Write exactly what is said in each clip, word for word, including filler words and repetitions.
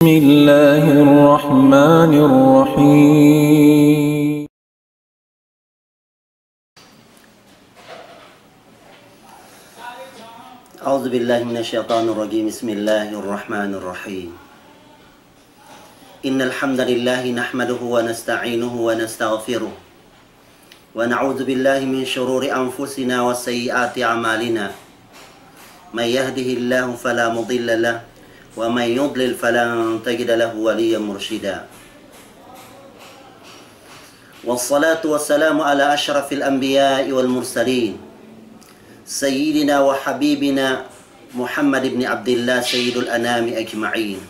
بسم الله الرحمن الرحيم. أعوذ بالله من الشيطان الرجيم. بسم الله الرحمن الرحيم. إن الحمد لله نحمده ونستعينه ونستغفره، ونعوذ بالله من شرور أنفسنا وسيئات أعمالنا. من يهده الله فلا مضل له، ومن يضلل فلن تجد له وليا مرشدا. والصلاة والسلام على أشرف الأنبياء والمرسلين، سيدنا وحبيبنا محمد بن عبد الله سيد الأنام أجمعين،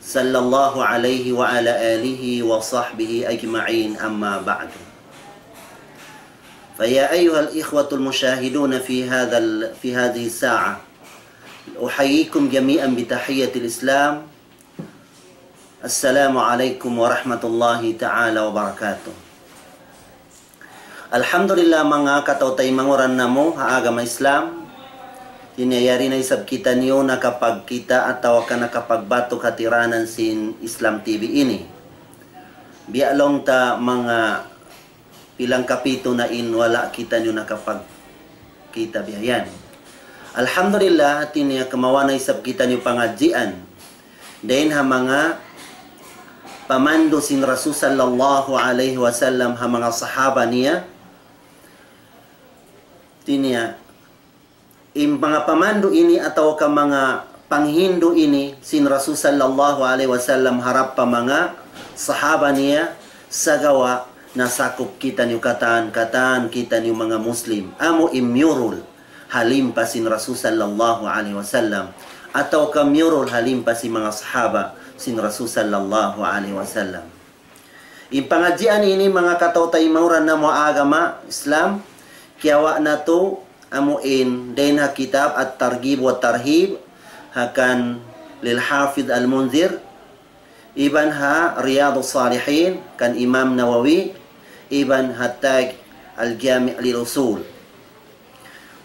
صلى الله عليه وعلى آله وصحبه أجمعين، أما بعد. فيا أيها الإخوة المشاهدون في هذا ال-، في هذه الساعة، أحييكم جميعا بتحية الإسلام. السلام عليكم ورحمة الله تعالى وبركاته. Alhamdulillah, manga kataw-taymanghuran namu' ha agama Islam, ini yari na isab kitaniyu nakapagkita' atawa ka nakapagbatuk ha tiranan sin Islam T V ini. Biya' laung ta manga pilang kapitu na in wala' kitaniyu nakapagkita' biya' yan. Alhamdulillah, hati niya kimawa' na isab kitaniyu pangadjian dayn ha manga pamandu' sin Rasul sallallahu alayhi wasallam ha manga sahaba niya. Hati niya, in manga pamandu' ini atawa ka manga panghindu' ini sin Rasul sallallahu alayhi wasallam harap pa manga sahaba niya, sagawa' nasakup kitaniyu katan, katan kitaniyu manga Muslim, amu in miyurul ha limpa sin Rasul sallallahu alayhi wasallam, atawa ka miyurul ha limpa sin manga sahaba sin Rasul sallallahu alayhi wasallam. In pangadjian ini, manga kataw-taymanghuran namu' ha agama Islam, kiyawa' natu' amu in dayn ha kitab At-Targhib wa Tarhib, ha kan lil Hafidh Al-Munzir, iban ha Riyadus Salihin, kan Imam Nawawi, iban ha Taj Al-Jami' lil Usul.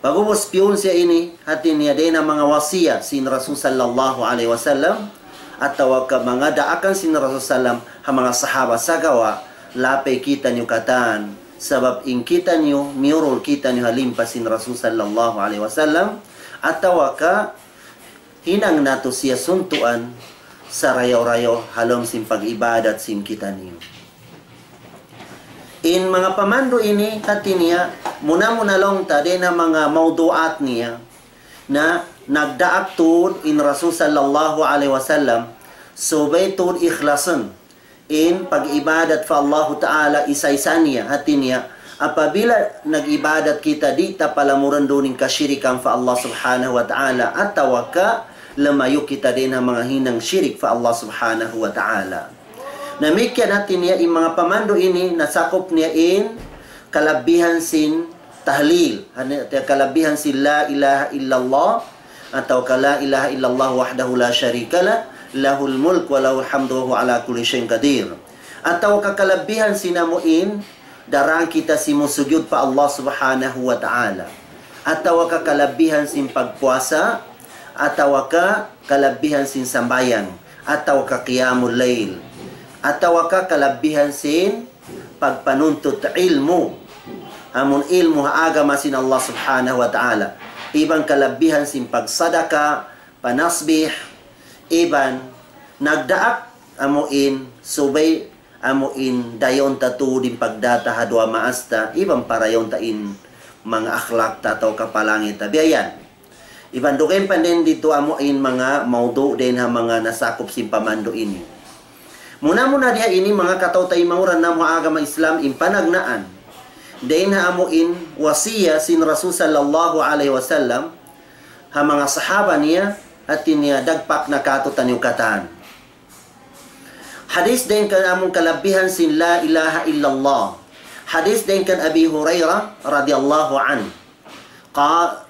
Pag'ubus piyun siya ini, hati niya dayn ha manga wasiya sin Rasul sallallahu alayhi wasallam, atawa ka manga daakan sin Rasul sallam ha manga sahaba, sagawa' lapay kitaniyu katan. Sabab in kitaniyu, miyurul kitaniyu ha limpa sin Rasul sallallahu alayhi wasallam, atawa ka hinang natu' siya suntuan sarayaw-rayaw ha lawm sin pag-ibadat sin kitaniyu. In manga pamandu' ini, hati niya, muna-muna laung ta dayn ha manga mawdu'at niya, na nagdaak tuud in Rasul sallallahu alayhi wasallam, subay tuud ikhlasun in pag-ibadat pa Allahu Ta'ala isa-isa niya, hati niya, apabila nag-ibadat kita, di' ta palamuran duun in kashirikan pa Allah Subhanahu wa Ta'ala, atawa ka lumayu' kita dayn ha manga hinang shirik pa Allah Subhanahu wa Ta'ala. Damikkiyan hati niya in manga pamandu' ini nasakup niya in kalabihan sin tahlil, hati niya kalabihan sin la ilaha illallah, atawa ka la ilaha illallah wahdahu la sharika lah, lahul mulk wa lahul hamdu wa huwa ala kulli shay'in qadir. Atawa ka kalabihan sin amu in daran kita simujud pa Allah Subhanahu wa Ta'ala. Atawa ka kalabihan sin pagpuasa, atawa ka kalabihan sin sambahayang, atawa ka qiyamul layl, atawa ka kalabihan sin pagpanuntut ilmu', amun ilmu' ha agama sin Allah Subhanahu wa Ta'ala, iban kalabihan sin pagsadaka, panasbih, iban nagdaak amu in subay amu in dayaw ta tuud in pagdata ha duwa maas ta, iban parayaw ta in manga akhlak ta atawa ka palangit ta. Biya' yan. Iban dugaing pa dayn didtu amu in manga mawdu' dayn ha manga nasakup sin pamandu' ini. Muna-muna diha ini manga kataw-taymanghuran namu' ha agama Islam in panagnaan dayn ha amu in wasiya sin Rasul sallallahu alayhi wasallam ha manga sahaba niya, hati niya dagpak na kātu'niyu katan. Hadith dayn kan amun kalabihan sin la ilaha illallah. Hadith dayn kan Abi Hurairah radiyallahu anhu. قال،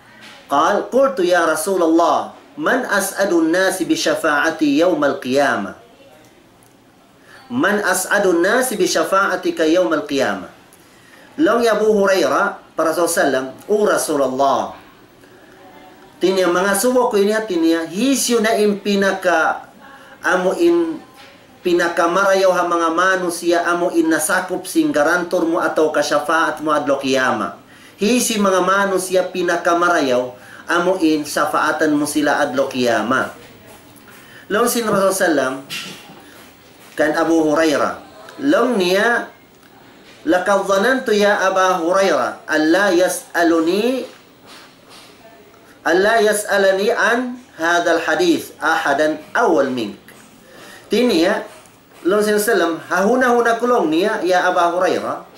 قال، قلت يا رسول الله، من أسعد الناس بشفاعتي يوم القيامة؟ من أسعد الناس بشفاعتك يوم القيامة؟ Laung hi Abu Hurairah pa Rasul sallam, "O Rasulullah, hati niya mangasubu aku ini hati niya, hisiyu na in pinaka amu in pinakamarayaw ha manga manusiya' amu in nasakup sin garantur mu atawa ka shafaat mu adlaw qiyamah. Hisiyu in manga manusiya' pinakamarayaw amu in shafaatan mu sila adlaw qiyamah. Laung sin Rasul sallam kan Abu Hurairah. Laung niya, لقد ظننت يا أبا هريرة ألا يسألني ألا يسألني عن هذا الحديث أحد أول منك. Hati niya, laung sin sallam, ha huna-huna ku laung niya, ya Aba Hurairah,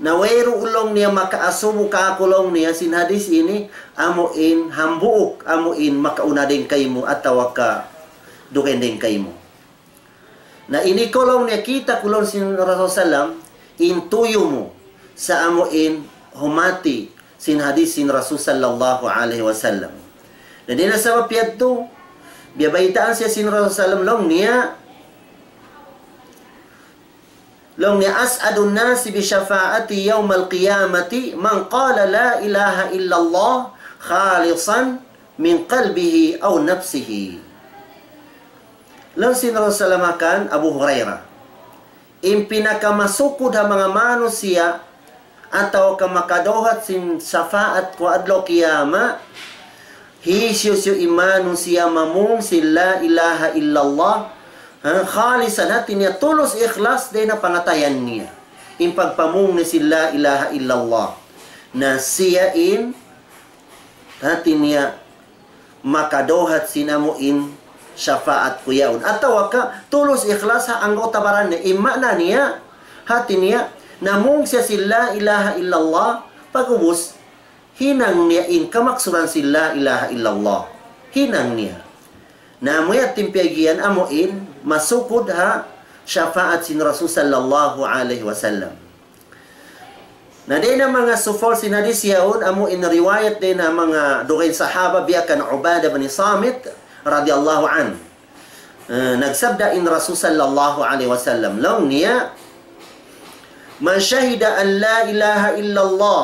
na wayruun laung niya makaasubu kāku' laung niya sin hadith ini, amu in hambuuk, amu in makauna dayn kaymu, atawa ka dugaing dayn kaymu. Na ini ku laung niya kita' ku laung sin Rasul sallam, in tuyu' mu sa' amu in humati sin hadith sin Rasul sallallahu alayhi wasallam. Na dayn ha sabab yadtu, biyabaytaan siya sin Rasul sallam laung niya, laung niya, أسعد الناس بشفاعتي يوم القيامة من قال لا إله إلا الله خالصا من قلبه أو نفسه. Laung sin Rasul sallam kan Abu Hurairah, in pinakamasukud ha manga manusiya' atawa ka makadawhat sin shafaat ku adlaw qiyamah, hisiyu-siyu in manusiya' mamung sin la ilaha illallah, ha, khalisan, hati niya tulus ikhlas dayn ha pangatayan niya. In pagpamung niya sin la ilaha illallah. Na siya in hati niya makadawhat sin amu in shafaat ku yaun. Atawa ka tulus ikhlas ha anggawta' baran niya. In maana niya, hati niya, namung siya sin la ilaha illallah, pag'ubus, hinang niya in kamaksuran sin la ilaha illallah. Hinang niya. Na amu yadtu in piyag'iyan amu in masukud ha shafaat sin Rasul sallallahu alayhi wasallam. Na dayn ha manga sufal sin hadith yaun, amu in riwayat dayn ha manga dugaing sahaba biya' kan Ubadah bin Samit radiyallahu anhu. Eh, nagsabda in Rasul sallallahu alayhi wasallam, laung niya, من شهد أن لا إله إلا الله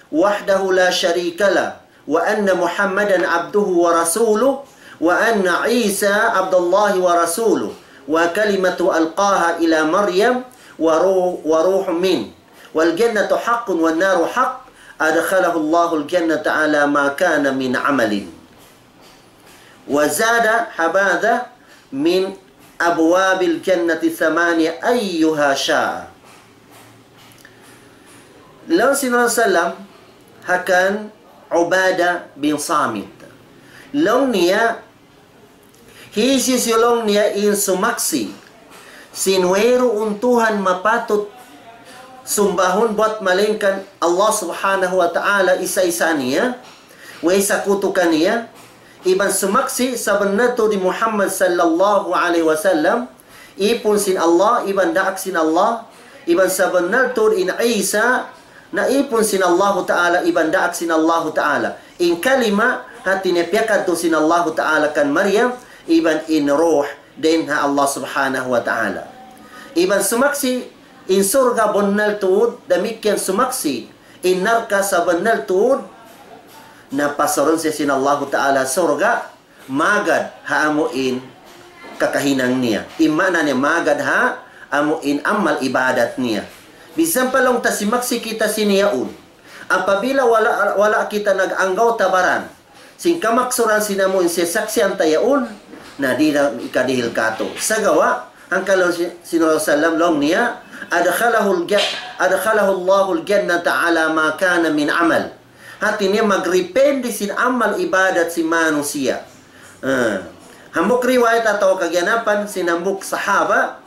وحده لا شريك له وأن محمدا عبده ورسوله وأن عيسى عبد الله ورسوله وكلمته ألقاها إلى مريم ورو-، وروح منه والجنة حق والنار حق أدخله الله الجنة على ما كان من عمل. وزاد هبذا من أبواب الجنة ثمانية أيها شاء. Laung sin Rasul sallam ha kan Ubadah bin Samit. Laung niya, hisiyu-siyu laung niya in sumaksi' sin wayruun Tuhan mapatut sumbahun buat malaingkan Allah Subhanahu wa Ta'ala isa-isa niya, way sakutu kaniya, iban sumaksi' sabunnal tuud hi Muhammad sallallahu alayhi wasallam, ipun sin Allah, iban daak sin Allah, iban sabunnal tuud in Isa, na ipun sin Allahu Ta'ala, iban daak sin Allahu Ta'ala. In kalima, hati niya piyakadtu sin Allahu Ta'ala kan Maryam, iban in ruh, dayn ha Allah Subhanahu wa Ta'ala. Iban sumaksi', in surga' bunnal tuud, damikkiyan sumaksi', in narka' sabunnal tuud, na pasarun siya sin Allahu Ta'ala surga', magad ha amu in kakahinang niya. In maana niya magad ha amu in amal ibadat niya. Bisan pa laung ta simaksi' kita sin yaun. Apabila wala', wala' kita nag-anggawta' baran sin kamaksuran sin amu in siyasaksian ta yaun, na di' na ikadihil kātu'. Sagawa', hangkan laung sin, sin Rasul sallam laung niya, أدخله الج-، أدخله الله الجنة على ما كان من عمل. Hati niya magdipindi sin amal ibadat sin manusiya'. Ah. Hambuuk riwayat atawa kaganapan sin hambuuk sahaba,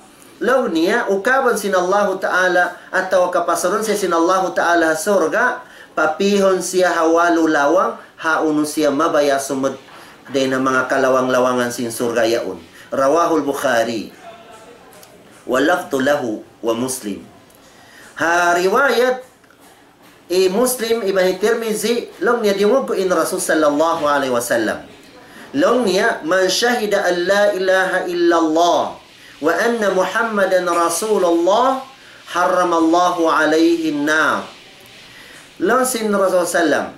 laung niya, ukaban sin Allahu Ta'ala, atawa kapasarun siya sin Allahu Ta'ala ha surga', papihun siya ha walu lawang, ha unu siya mabaya' sumud dayn ha manga kalawang-lawangan sin surga' yaun. رواه البخاري واللفظ له ومسلم. Ha riwayat hi Muslim iban hi Tirmizi, laung niya diyungug ku in Rasul sallallahu alayhi wasallam. Laung niya, من شهد أن لا إله إلا الله وأن محمدا رسول الله حرم الله عليه النار. Laung sin Rasul sallam,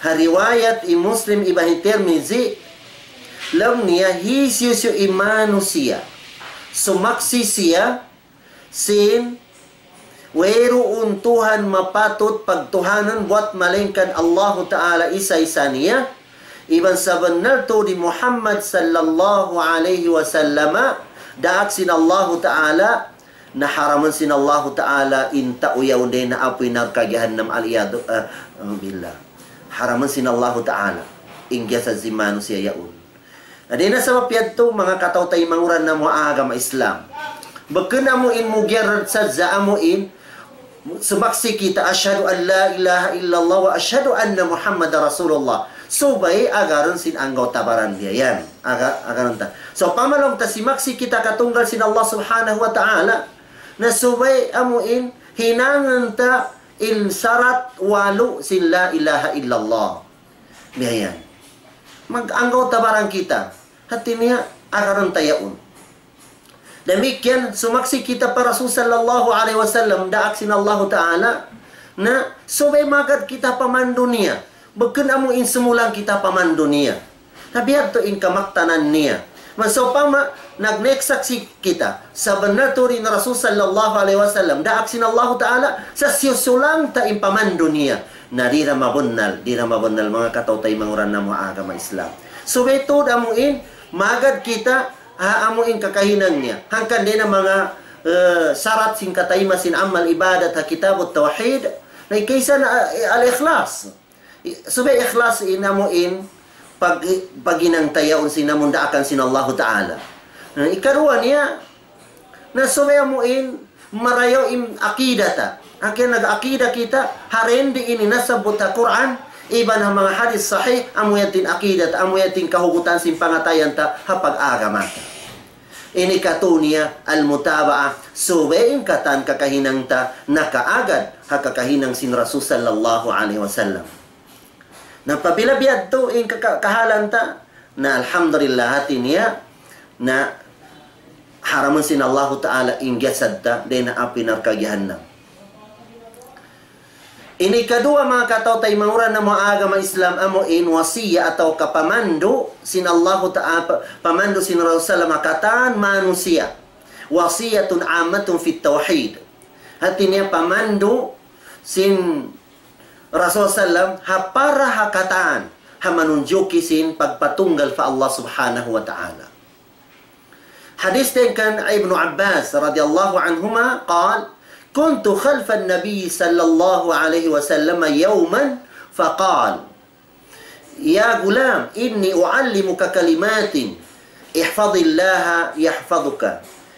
ha riwayat hi Muslim iban hi Tirmizi, Laung niya, hisiyu-siyu in manusiya' sumaksi' siya sin wayruun Tuhan mapatut pagtuhanan buat malaingkan Allahu Ta'ala isa-isa niya, iban sabunnal tuud hi Muhammad sallallahu alayhi wasallam daak sin Allahu Ta'ala, na haramun sin Allahu Ta'ala in tau yaun dayn ha api narka' jahannam, al-iyadhu, ah, billah. Haramun sin Allahu Ta'ala in jasad sin manusiya' yaun. Na dayn ha sabab yadtu, manga kataw-taymanghuran namu' ha agama Islam, bukun amu in mujarrad sadja amu in sumaksi' kita, "Ashhadu an la ilaha illallah wa ashhadu anna Muhammadar Rasulullah." Subay agarun sin anggawta' baran biya' yan. Aga-, agarun ta. Sawpama laung ta simaksi' kita katunggal sin Allah Subhanahu wa Ta'ala, na subay amu in hinangun ta in sarat walu sin la ilaha illallah. Biya' yan. Mag-, anggawta' baran kita. Hati niya, agarun ta yaun. Damikkiyan, sumaksi' kita pa Rasul sallallahu alayhi wasallam, daak sin Allahu Ta'ala, na subay magad kita pamandu niya. Bukun amu in sumulang kita pamandu niya. Na biya' yadtu in kamaktanan niya. Bang sawpama, nag-, nagsaksi' kita, sabunnal tuud in Rasul sallallahu alayhi wasallam, daak sin Allahu Ta'ala, sa' siyusulang ta in pamandu niya. Na di' da mabunnal, di' da mabunnal, manga kataw-taymanghuran namu' ha agama Islam. Subay tuud amu in, magad kita, ha amu in kakahinang niya. Hangkan dayn ha manga, eh, sarat sin kataymanghuran sin amal ibadat ha Kitabut Tawhid, na ikaisa na, eh, al-ikhlas. I-, subay ikhlas in amu in pag-, paghinang ta yaun sin amun daakan sin Allahu Ta'ala. Na ikaruwa niya, na subay amu in marayaw in akida ta. Hangkan nag-akida kita, ha dindi in nasabbut ha Qur'an, iban ha manga hadith sahih, amu yadtu in akida ta, amu yadtu in kahugutan sin pangatayan ta, ha pag-agama ta. Ini katu' niya al-mutaba'ah, subay in katan kakahinang ta nakaagad ha kakahinang sin Rasul sallallahu alayhi wasallam. Na apabila biya' yadtu in kaka-, kahalan ta, na alhamdulillah hati niya, na haramun sin Allahu Ta'ala in jasad ta dayn ha api narka' jahannam. Ini kaduwa, manga kataw-taymanghuran namu' ha agama Islam, amu in wasiya atawa ka pamandu sin Allahu Ta'ala, pa-, pamandu sin Rasul sallam ha katan manusiya'. Wasiyatun ammatun fit tawhid. Hati niya pamandu sin Rasul sallam ha para ha katan, ha manunjuki sin pagpatunggal pa Allah Subhanahu wa Ta'ala. Hadith dayn kan Ibnu Abbas radiyallahu anhuma, قال: كنت خلف النبي صلى الله عليه وسلم يوما فقال: يا غلام، إني أعلمك كلمات، احفظ الله يحفظك،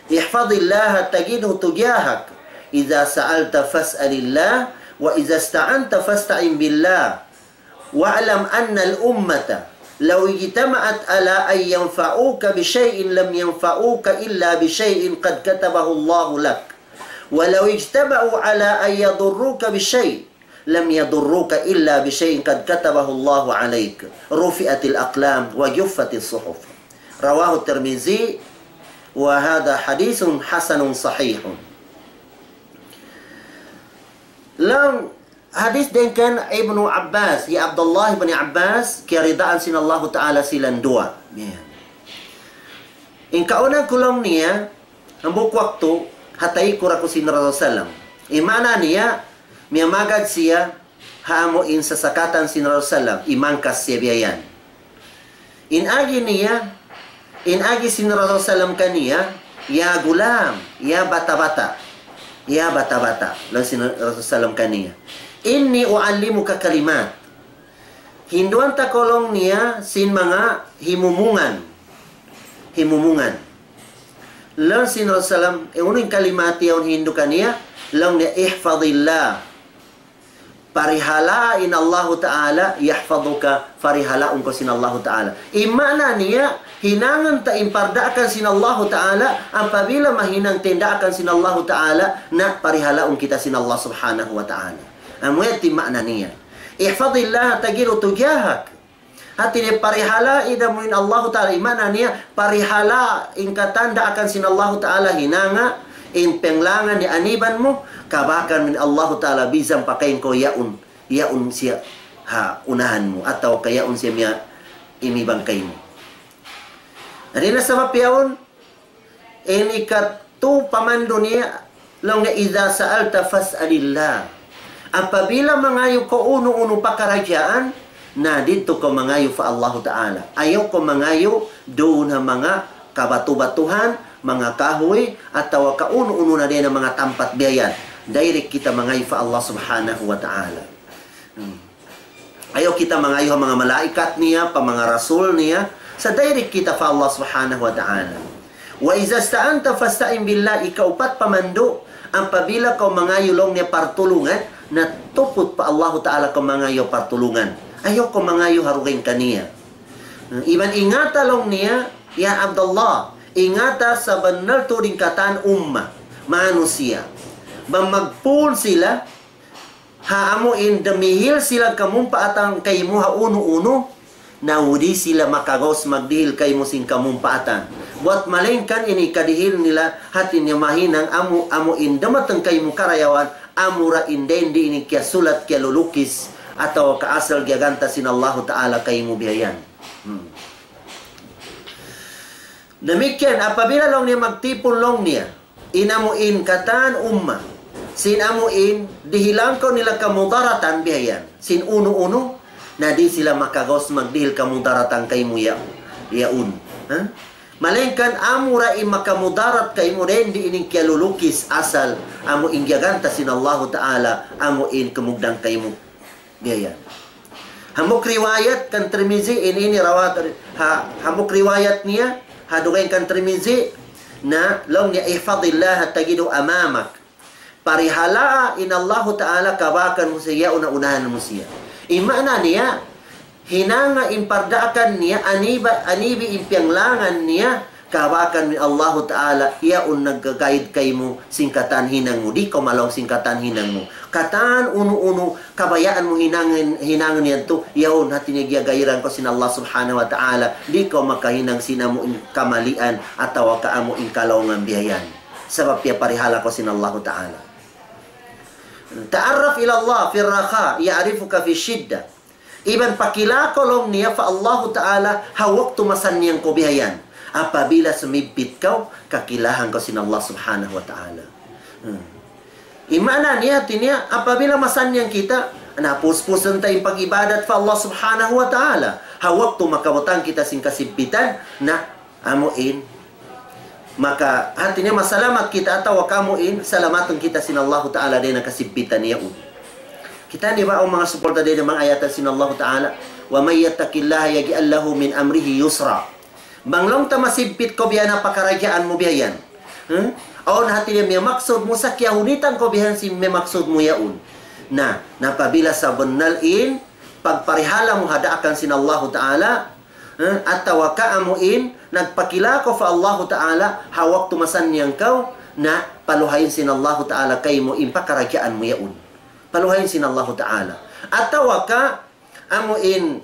احفظ الله تجده تجاهك، إذا سألت فاسأل الله، وإذا استعنت فاستعن بالله، واعلم أن الأمة لو اجتمعت على أن ينفعوك بشيء لم ينفعوك إلا بشيء قد كتبه الله لك، ولو اجتمعوا على أن يضروك بشيء لم يضروك إلا بشيء قد كتبه الله عليك، رفعت الأقلام وجفت الصحف. رواه الترمذي، وهذا حديث حسن صحيح. Laung hadith dayn kan Ibnu Abbas, hi Abdullah ibn Abbas, kiyaridaan sin Allahu Ta'ala sila duwa. Yan. In kaunang kulung niya, hambuuk waktu, ha taykud aku sin Rasul sallam. In maana niya, miyamagad siya, ha amu in sasakatan sin Rasul sallam, imangkas siya biya' yan. In agi niya, in agi sin Rasul sallam kaniya, "Ya gulam, ya bata'-bata', ya bata'-bata'." Laung sin Rasul sallam kaniya, "Inni u'allimuka kalimat." Hinduan ta kaw laung niya sin manga himumungan. Himumungan. Laung sin Rasul sallam, eh, unu in kalimat yaun hindu kaniya, laung niya, "Ihfadillah." Parihalaa in Allahu Ta'ala, "yahfaduka," parihalaun kaw sin Allahu Ta'ala. In maana niya, hinangun ta in pardaakan sin Allahu Ta'ala, apabila mahinang ta in daakan sin Allahu Ta'ala, na parihalaun kita sin Allah Subhanahu wa Ta'ala. Amu yan in maana niya. "Ihfadillah tajidhu tujahak." Hati niya parihalaa da mu in Allahu Ta'ala, in maana niya, parihalaa in katan daakan sin Allahu Ta'ala hinanga, in panglangan niya aniban mu, kabakan mu in Allahu Ta'ala, bisan pa kaymu yaun, yaun siya ha unahan mu, atawa ka yaun siya miya imibang kaymu. Dayn ha sabab yaun, ini katu' pamandu' niya, laung niya, إذا سألت فاسأل الله. Apabila mangayu' kaw unu-unu pakaradjaan, na didtu kaw mangayu' pa Allahu Ta'ala. Ayaw kaw mangayu' duun ha manga kabatu-batuhan, manga kahuy, atawa ka unu-unu na dayn ha manga tampat biya' yan. Direct kita mangayu' pa Allah Subhanahu wa Ta'ala. Hmm. Ayaw kita mangayu' ha manga malaikat niya, pa manga rasul niya, sa' direct kita pa Allah Subhanahu wa Ta'ala. وإذا استعنت فاستعن بالله, ikaupat pamandu', apabila kaw mangayu' laung niya partulungan, na tuput pa Allahu Ta'ala kaw mangayu' partulungan. Ayaw kaw mangayu' ha dugaing kaniya. Iban ingata laung niya, ya Abdullah, ingata sabunnal tuud in katan umma, manusiya'. Bang magpul sila, ha amu in dumihil sila kamumpaatan kaymu ha unu-unu, na di' sila makagaus magdihil kaymu sin kamumpaatan. Buwat malayngkan ini kadihil nila hati niya mahinang amu, amu in dumatung kaymu karayawan, amura in dindi ini kiyasulat, kiyalulukis, atawa ka asal giyaganta sin Allahu Ta'ala kaymu biya' yan. Hmm. Damikkiyan, apabila laung niya magtipun laung niya, in amu in katan umma, sin amu in dihilan kaw nila kamudaratan biya' yan, sin unu-unu, na di' sila makagaus magdihil kamudaratan kaymu ya-, yaun. Ha? Malayngkan amura in makamudarat kaymu dindi ini kiyalulukis asal amu in giyaganta sin Allahu Ta'ala, amu in kumugdan kaymu. Biya' yan. Hambuuk riwayat kan Tirmizi, in ini rawat, ha, hambuuk riwayat niya, ha dugaing kan Tirmizi, na laung niya, احفظ الله تجده أمامك. Parihalaa in Allahu Ta'ala kabakan mu siya, yaun ha unahan mu siya. In maana niya, hinanga in pardaakan niya, aniba-, anibi in piyanglangan niya, kabakan mu in Allahu Ta'ala, yaun nagga-guide kaymu sin katan hinang mu, di' kaw malaung sin katan hinang mu. Katan unu-unu, kabayaan mu hinangun, hinangun yadtu, yaun hati niya giyagairan kaw sin Allah Subhanahu wa Ta'ala, di' kaw makahinang sin amu in kamalian, atawa ka amu in kalaungan biya' yan. Sabab piyaparihala kaw sin Allahu Ta'ala. تعرف إلى الله في الرخاء يعرفك في الشدة. Iban pakila kaw laung niya pa Allahu Ta'ala ha waktu masannyang kaw biya' yan. Apabila sumibbit kaw, kakilahan kaw sin Allah Subhanahu wa Ta'ala. Hmm. In maana niya, hati niya, apabila masannyang kita, na puspusan ta in pag-ibadat pa Allah Subhanahu wa Ta'ala. Ha waktu makabutang kita sin kasibbitan, na amu in, maka hati niya masalamat kita atawa ka amu in, salamatun kita sin Allahu Ta'ala dayn ha kasibbitan yaun. Kita' niyu ba in manga suporta dayn ha manga ayat sin Allahu Ta'ala, ومن يتق الله يجعل له من أمره يسرا. Bang laung ta masibbit kaw biya' na pakaradjaan mu biya' yan. Hmm? Awn hati niya miyamaksud mu sa' kiyahunitan kaw biya' sin miyamaksud mu yaun. Na, na apabila sabunnal in, pagparihala mu ha daakan sin Allahu Ta'ala, eh, atawa ka amu in, nagpakila kaw pa Allahu Ta'ala, ha waktu masannyang kaw, na paluhayin sin Allahu Ta'ala kaymu in pakaradjaan mu yaun. Paluhayin sin Allahu Ta'ala. Atawa ka, amu in,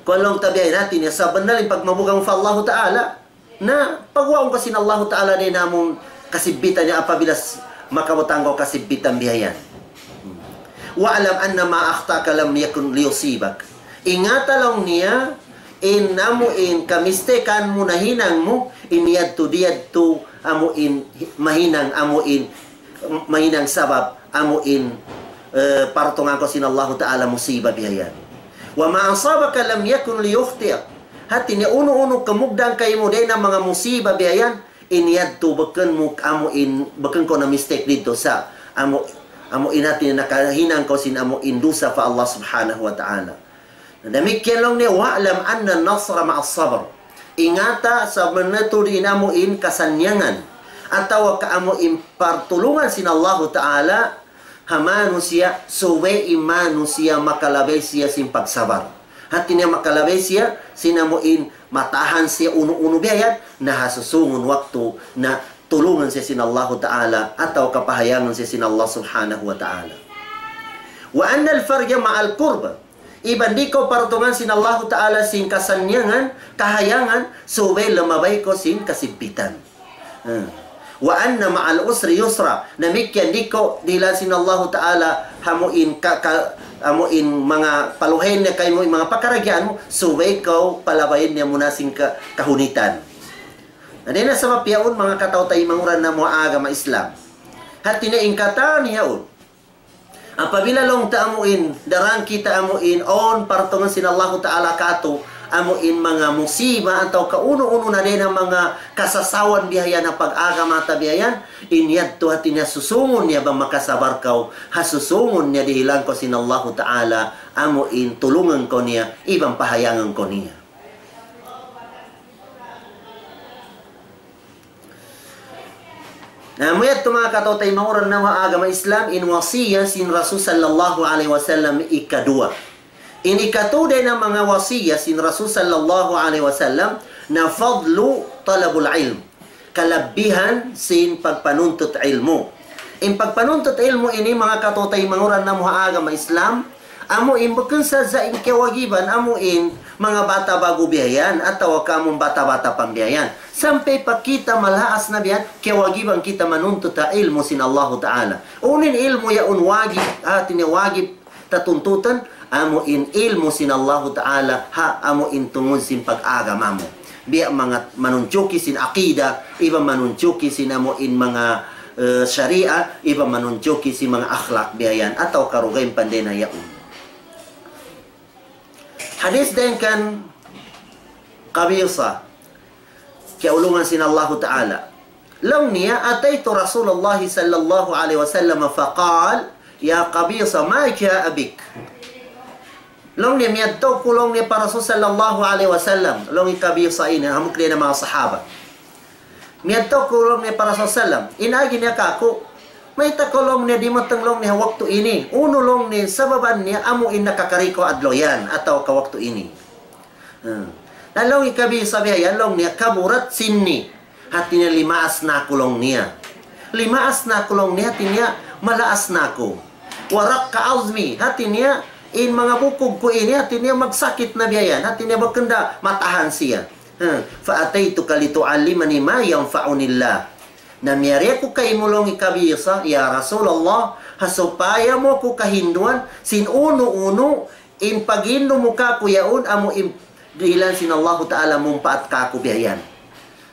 kuwan laung ta biya' hati niya, sabunnal in pagmabuga' mu pa Allahu Ta'ala, na pagwaun kaw sin Allahu Ta'ala dayn ha amu in kasibbitan niya apabila s-, makabutang kaw kasibbitan biya' yan. واعلم أن ما أخطأك لم يكن ليصيبك. Ingata laung niya, in amu in kamistekan mu nahinang mu, in yadtu di' yadtu amu in mahinang amu in mahinang sabab amu in, eh, partungan kaw sin Allahu Ta'ala musiba biya' yan. وما أصابك لم يكن ليخطئك. Hati niya unu-unu kamugdan kaymu dayn ha manga musiba biya' yan, in yadtu bukun mu amu in, bukun kaw na-mistake didtu sa' amu, amu in hati niya nakahinang kaw sin amu in dusa pa Allah Subhanahu wa Ta'ala. Damikkiyan laung niya, واعلم أن النصر مع الصبر. Ingata, sabunnal tuud in amu in kasannyangan, atawa ka amu in partulungan sin Allahu Ta'ala, ha manusiya', subay in manusiya' makalabay siya sin pagsabar. Hati niya makalabay siya, sin amu in matahan siya unu-unu biya' yan, na ha susungun waktu, na tulungan siya sin Allahu Ta'ala, atawa ka pahayangan siya sin Allah Subhanahu wa Ta'ala. وأن الفرج مع الكرب. Iban di' kaw partungan sin Allahu Ta'ala sin kasannyangan, kahayangan, subay lumabay kaw sin kasibbitan. Hmm. وأن مع العسر يسرا. Damikkiyan di' kaw dihilan sin Allahu Ta'ala ha amu in ka-, ka-, amu in manga paluhayn niya kaymu in manga pakaradjaan mu, subay kaw palabayan niya muna sin ka-, kahunitan. Na dayn ha sabab yaun, manga kataw-taymanghuran namu' ha agama Islam. Hati niya in katan yaun. Apabila laung ta amu in, daran kita amu in, awn partungan sin Allahu Ta'ala kātu', amu in manga musiba atawa kaunu-unu na dayn ha manga kasasawan bihayan ha pag-agama ta bihayan, in yadtu hati niya susungun niya bang makasabar kaw, ha susungun niya dihilan kaw sin Allahu Ta'ala, amu in tulungan kaw niya, iban pahayangan kaw niya. Na, amu yadtu manga kataw-taymanghuran namu' ha agama Islam, in wasiyat sin Rasul sallallahu alayhi wasallam ikaduwa. In ikatū dayn ha manga wasiyat sin Rasul sallallahu alayhi wasallam, na fadlu talabul ilm. Kalabihan sin pagpanuntut ilmu'. In pagpanuntut ilmu' ini, manga kataw-taymanghuran namu' ha agama Islam, amu in bukun sadja in kiyawajiban, amu in manga bata' ba'gu bihayan, atawa ka amu in bata'-bata' pa bihayan. Sampay pa kita malaas na bihayan, kiyawajiban kita manuntut ha ilmu' sin Allahu Ta'ala. Unu in ilmu' yaun wajib, hati niya wajib ta tuntutan, amu in ilmu' sin Allahu Ta'ala, ha amu in tungud sin pag-agama mu. Biya' manga manunjuki sin aqida, iban manunjuki sin amu in manga, eh, sharia, iban manunjuki sin manga akhlak bihayan, atawa karugayan panday na yaun. Hadith dayn kan Qabisa, kiyaulungan sin Allahu Ta'ala. Laung niya, أتيت رسول الله صلى الله عليه وسلم فقال: يا قبيصة، ما جاء بك؟ Laung niya, miyadtu aku laung niya pa Rasul sallallahu alayhi wasallam. Laung hi Qabisa ini, hambuuk dayn ha manga sahaba. Miyadtu aku laung niya pa Rasul sallam. In agi niya kāku', mayta' kaw laung niya dimatung laung niya ha waktu ini. Unu laung niya, sababan niya amu in nakakari kaw adlaw yan, atawa ka waktu ini. Hmm. Na laung hi Qabisa bihayan laung niya, كبرت سني. Hati niya limaas na aku laung niya. Limaas na aku laung niya, hati niya malaas na aku. ورق عظمي, hati niya in manga bukug ku ini, hati niya magsakit na bihayan, hati niya bukun da matahan siya. Hmm. فأتيتك لتعلمني ما ينفعني الله. Na miyari aku kaymu laung hi Qabisa, ya Rasulullah, ha supaya mu aku kahinduan sin unu-unu in paghindu mu kāku' yaun amu in dihilan sin Allahu Ta'ala mumpaat kāku' bihayan.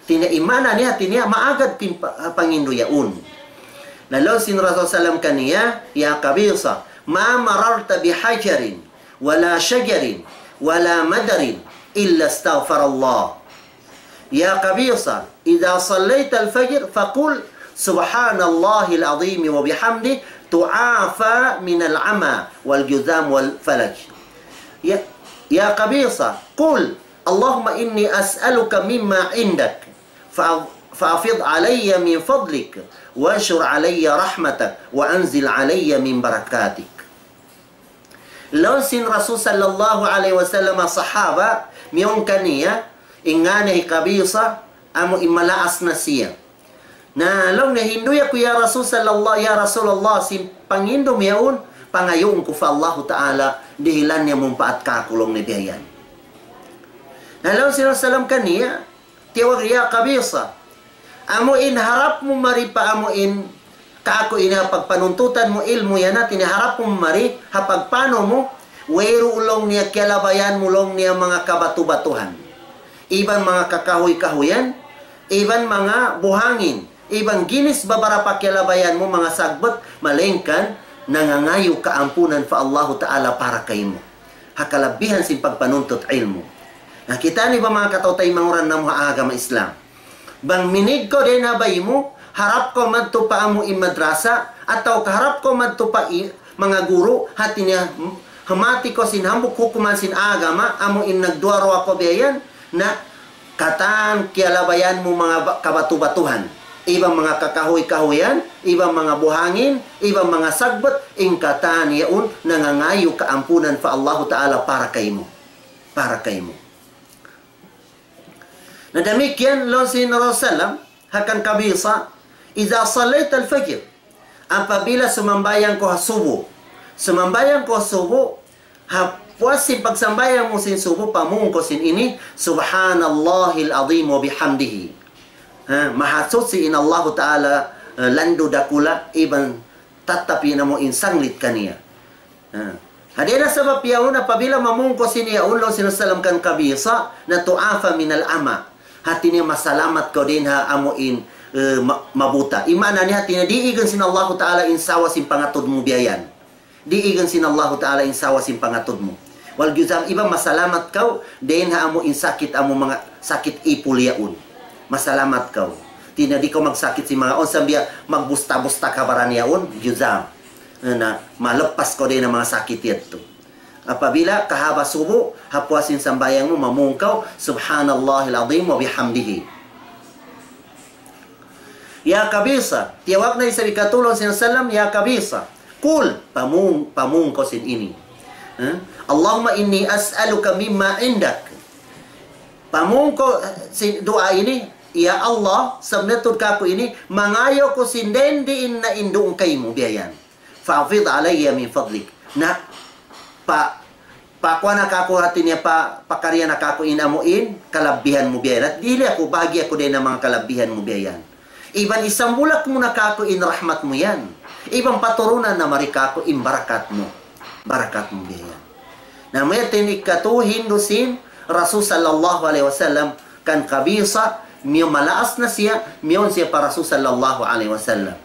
Hati niya in maana niya, hati niya maagad pin-, pa-, pangindu yaun. Na laung sin Rasul sallam kaniya, يا قبيصة، ما مررت بحجر ولا شجر ولا مدر إلا استغفر الله. يا قبيصة، إذا صليت الفجر فقل: سبحان الله العظيم وبحمده، تعافى من العمى والجذام والفلج. يا، يا قبيصة، قل: اللهم إني أسألك مما عندك، فأ-، فأفض علي من فضلك، وانشر علي رحمتك، وأنزل علي من بركاتك. Laung sin Rasul sallallahu alayhi wasallam ha sahaba, miyawn kaniya, in ngān niya hi Qabisa, amu in malaas na siya. Na laung niya, hinduy aku ya Rasul sallallahu, ya Rasulullah, sin panghindu' mu yaun, pangayuun ku pa Allahu Ta'ala, dihilan niya mumpaat kāku' laung niya bihayan. Na laung sin Rasul sallam kaniya, tiyawag, ya Qabisa. Amu in harap mu mari pa amu in kāku' ini ha pagpanuntutan mu ilmu' yan, hati niya harap mu mari ha pagpanu mu, wayruun laung niya kiyalabayan mu laung niya manga kabatu-batuhan. Iban manga kakahuy-kahuyan, iban manga buhangin, iban ginis babarapa kiyalabayan mu manga sagbut, malayngkan nangangayu' kaampunan pa Allahu Ta'ala para kaymu. Ha kalabihan sin pagpanuntut ilmu'. Na, kita' niyu ba manga kataw-taymanghuran namu' ha agama Islam? Bang minig kaw dayn ha bay mu, harap kaw madtu pa amu in madrasa, atawa ka harap kaw madtu pa i-, manga guru, hati niya, m-, hamati kaw sin hambuuk hukuman sin agama, amu in nagduwa-ruwa kaw bihayan, na katan kiyalabayan mu manga ba-, kabatu-batuhan, iban manga kakahuy-kahuyan, iban manga buhangin, iban manga sagbut, in katan yaun nangangayu' kaampunan pa Allahu Ta'ala para kaymu. Para kaymu. Na damikkiyan laung sin Rasul sallam, ha kan Qabisa, إذا صليت الفجر, apabila sumambahayang kaw ha subu. Sumambahayang kaw ha subu, ha puas sin pagsambahayang mu sin subu, pamung kaw sin ini, سبحان الله العظيم وبحمده. Ha, mahasuchi in Allahu Ta'ala, eh, landu' dakula', iban tattap in amu in sanglit kaniya. Ha. Hati niya sabab yaun apabila mamung kaw sin yaun laung sin Rasul sallam kan Qabisa, na tu'afa minal ama. Hati niya masalamat kaw dayn ha amu in, eh, ma-, mabuta. In maana niya hati niya diigan sin Allahu Ta'ala in sawa sin pangatud mu biya' yan. Diigan sin Allahu Ta'ala in sawa sin pangatud mu. Wal juzam iban masalamat kaw dayn ha amu in sakit amu manga sakit ipul yaun. Masalamat kaw. Hati niya di' kaw magsakit sin manga unsa biya' magbusta-busta kabaran yaun, juzam. Na, malappas kaw dayn ha manga sakit yadtu. Apabila kahaba subu, ha puas sin sambahayang mu mamung kaw, Subhanallahil azim wa bihamdihi. Ya Qabisa, tiyawag na isab hikatu laung sin Rasul sallam, ya Qabisa, qul, pamung, pamung kaw sin ini. Ha? Allahumma inni as'aluka mimma indak. Pamung kaw sin duwaa ini, ya Allah, sabunnal tuud kāku' ini, mangayu' aku sin dayn diin na in duun kaymu biya' yan. Fa afid alayya min fadlik. Na, pa, pakuha na kāku' hati niya pa, pakarian na kāku' in amu in, kalabihan mu biya' yan. At dihili aku, bahagi' aku dayn ha manga kalabihan mu biya' yan. Iban isambulak mu na kāku' in rahmat mu yan. Iban paturunan na mari kāku' in barakat mu. Barakat mu biya' yan. Na amu yan in hikatu hindu' sin Rasul sallallahu alayhi wasallam kan Qabisa, miyawn malaas na siya, miyawn siya pa Rasul sallallahu alayhi wasallam.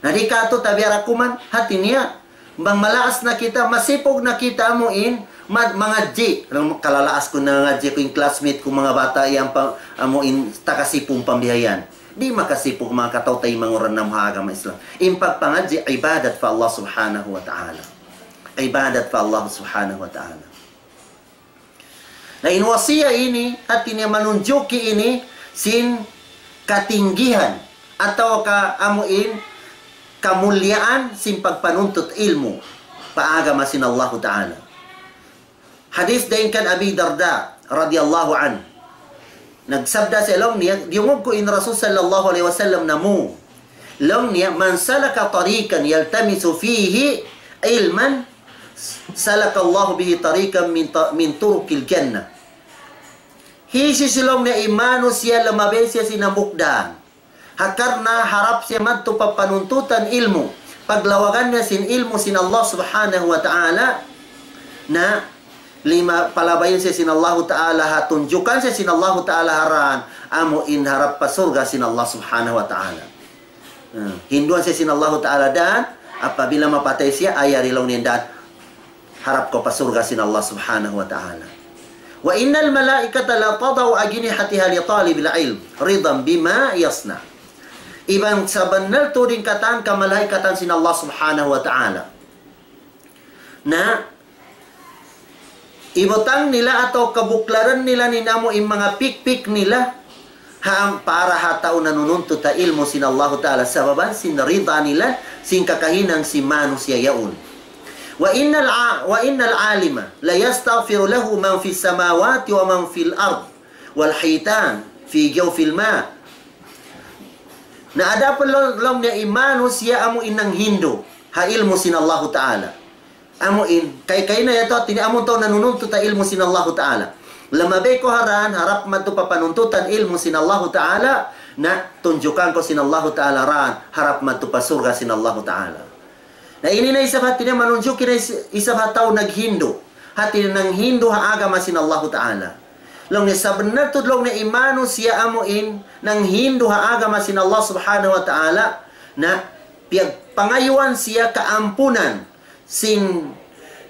Na di' katu' tabiya' ra kuman, hati niya, bang malaas na kita, masipug na kita amu in, ma-, mangadji'. Alam mu, kalalaas ku nangadji' ku in classmate ku manga bata' yan pa, amu in takasipug pa biya' yan. Di' makasipug manga kataw-taymanghu ra ha agama Islam. In pagpangadji' ibadat pa Allah Subhanahu wa Ta'ala. Ibadat pa Allah Subhanahu wa Ta'ala. Na in wasiya ini, hati niya manunjuki ini sin katinggihan atawa ka amu in kamuliaan sin pagpanuntut ilmu' pa agama sin Allahu Ta'ala. Hadith dayn kan Abi Darda radiyallahu anhu. Nagsabda siya laung niya, diyungug ku in Rasul sallallahu alayhi wasallam namung. Laung niya, من سلك طريقا يلتمس فيه علما سلك الله به طريقا من ط-، من طرق الجنة. Hisiyu-siyu laung niya in manusiya' lamabay siya sin hambuuk dān. Ha karna' harap siya madtu pa panuntutan ilmu'. Paglawagan niya sin ilmu' sin Allah Subhanahu wa Ta'ala. Na, lima palabayan siya sin Allahu Ta'ala ha tunjukan siya sin Allahu Ta'ala ha dān. Amu in harap pa surga' sin Allah Subhanahu wa Ta'ala. Hmm. Hinduan siya sin Allahu Ta'ala dān, apabila mapatay siya, ay yari laung niya dān. Harap kaw pa surga' sin Allah Subhanahu wa Ta'ala. وإن الملائكة لتضع أجنحتها لطالب العلم رضا بما يصنع. Iban sabunnal tuud in katan kamalaikatan sin Allah Subhanahu wa Ta'ala. Na, ibutang nila atawa kabuklaran nila in amu in manga pikpik nila, ha, para ha tau nanununtut ha ilmu' sin Allahu Ta'ala, sababan sin rida nila, sin kakahinang sin manusiya' yaun. وإن الع-، وإن العالم ليستغفر له من في السماوات ومن في الأرض والحيتان في جوف الماء. Na adapun laung, laung niya in manusiya' amu in nanghindu' ha ilmu' sin Allahu Ta'ala. Amu in, kay, kay na yadtu, hati niya amu in tau nanununtut ha ilmu' sin Allahu Ta'ala. Lamabay kaw ha dān, harap madtu pa panuntutan ilmu' sin Allahu Ta'ala, na tunjukan kaw sin Allahu Ta'ala dān, harap madtu pa surga' sin Allahu Ta'ala. Na ini na isab hati niya manunjuki na is-, isab ha tau naghindu'. Hati niya nanghindu' ha agama sin Allahu Ta'ala. Laung niya sabunnal tuud laung niya in manusiya' amu in nanghindu' ha agama sin Allah Subhanahu wa Ta'ala, na piyagpangayuan siya kaampunan sin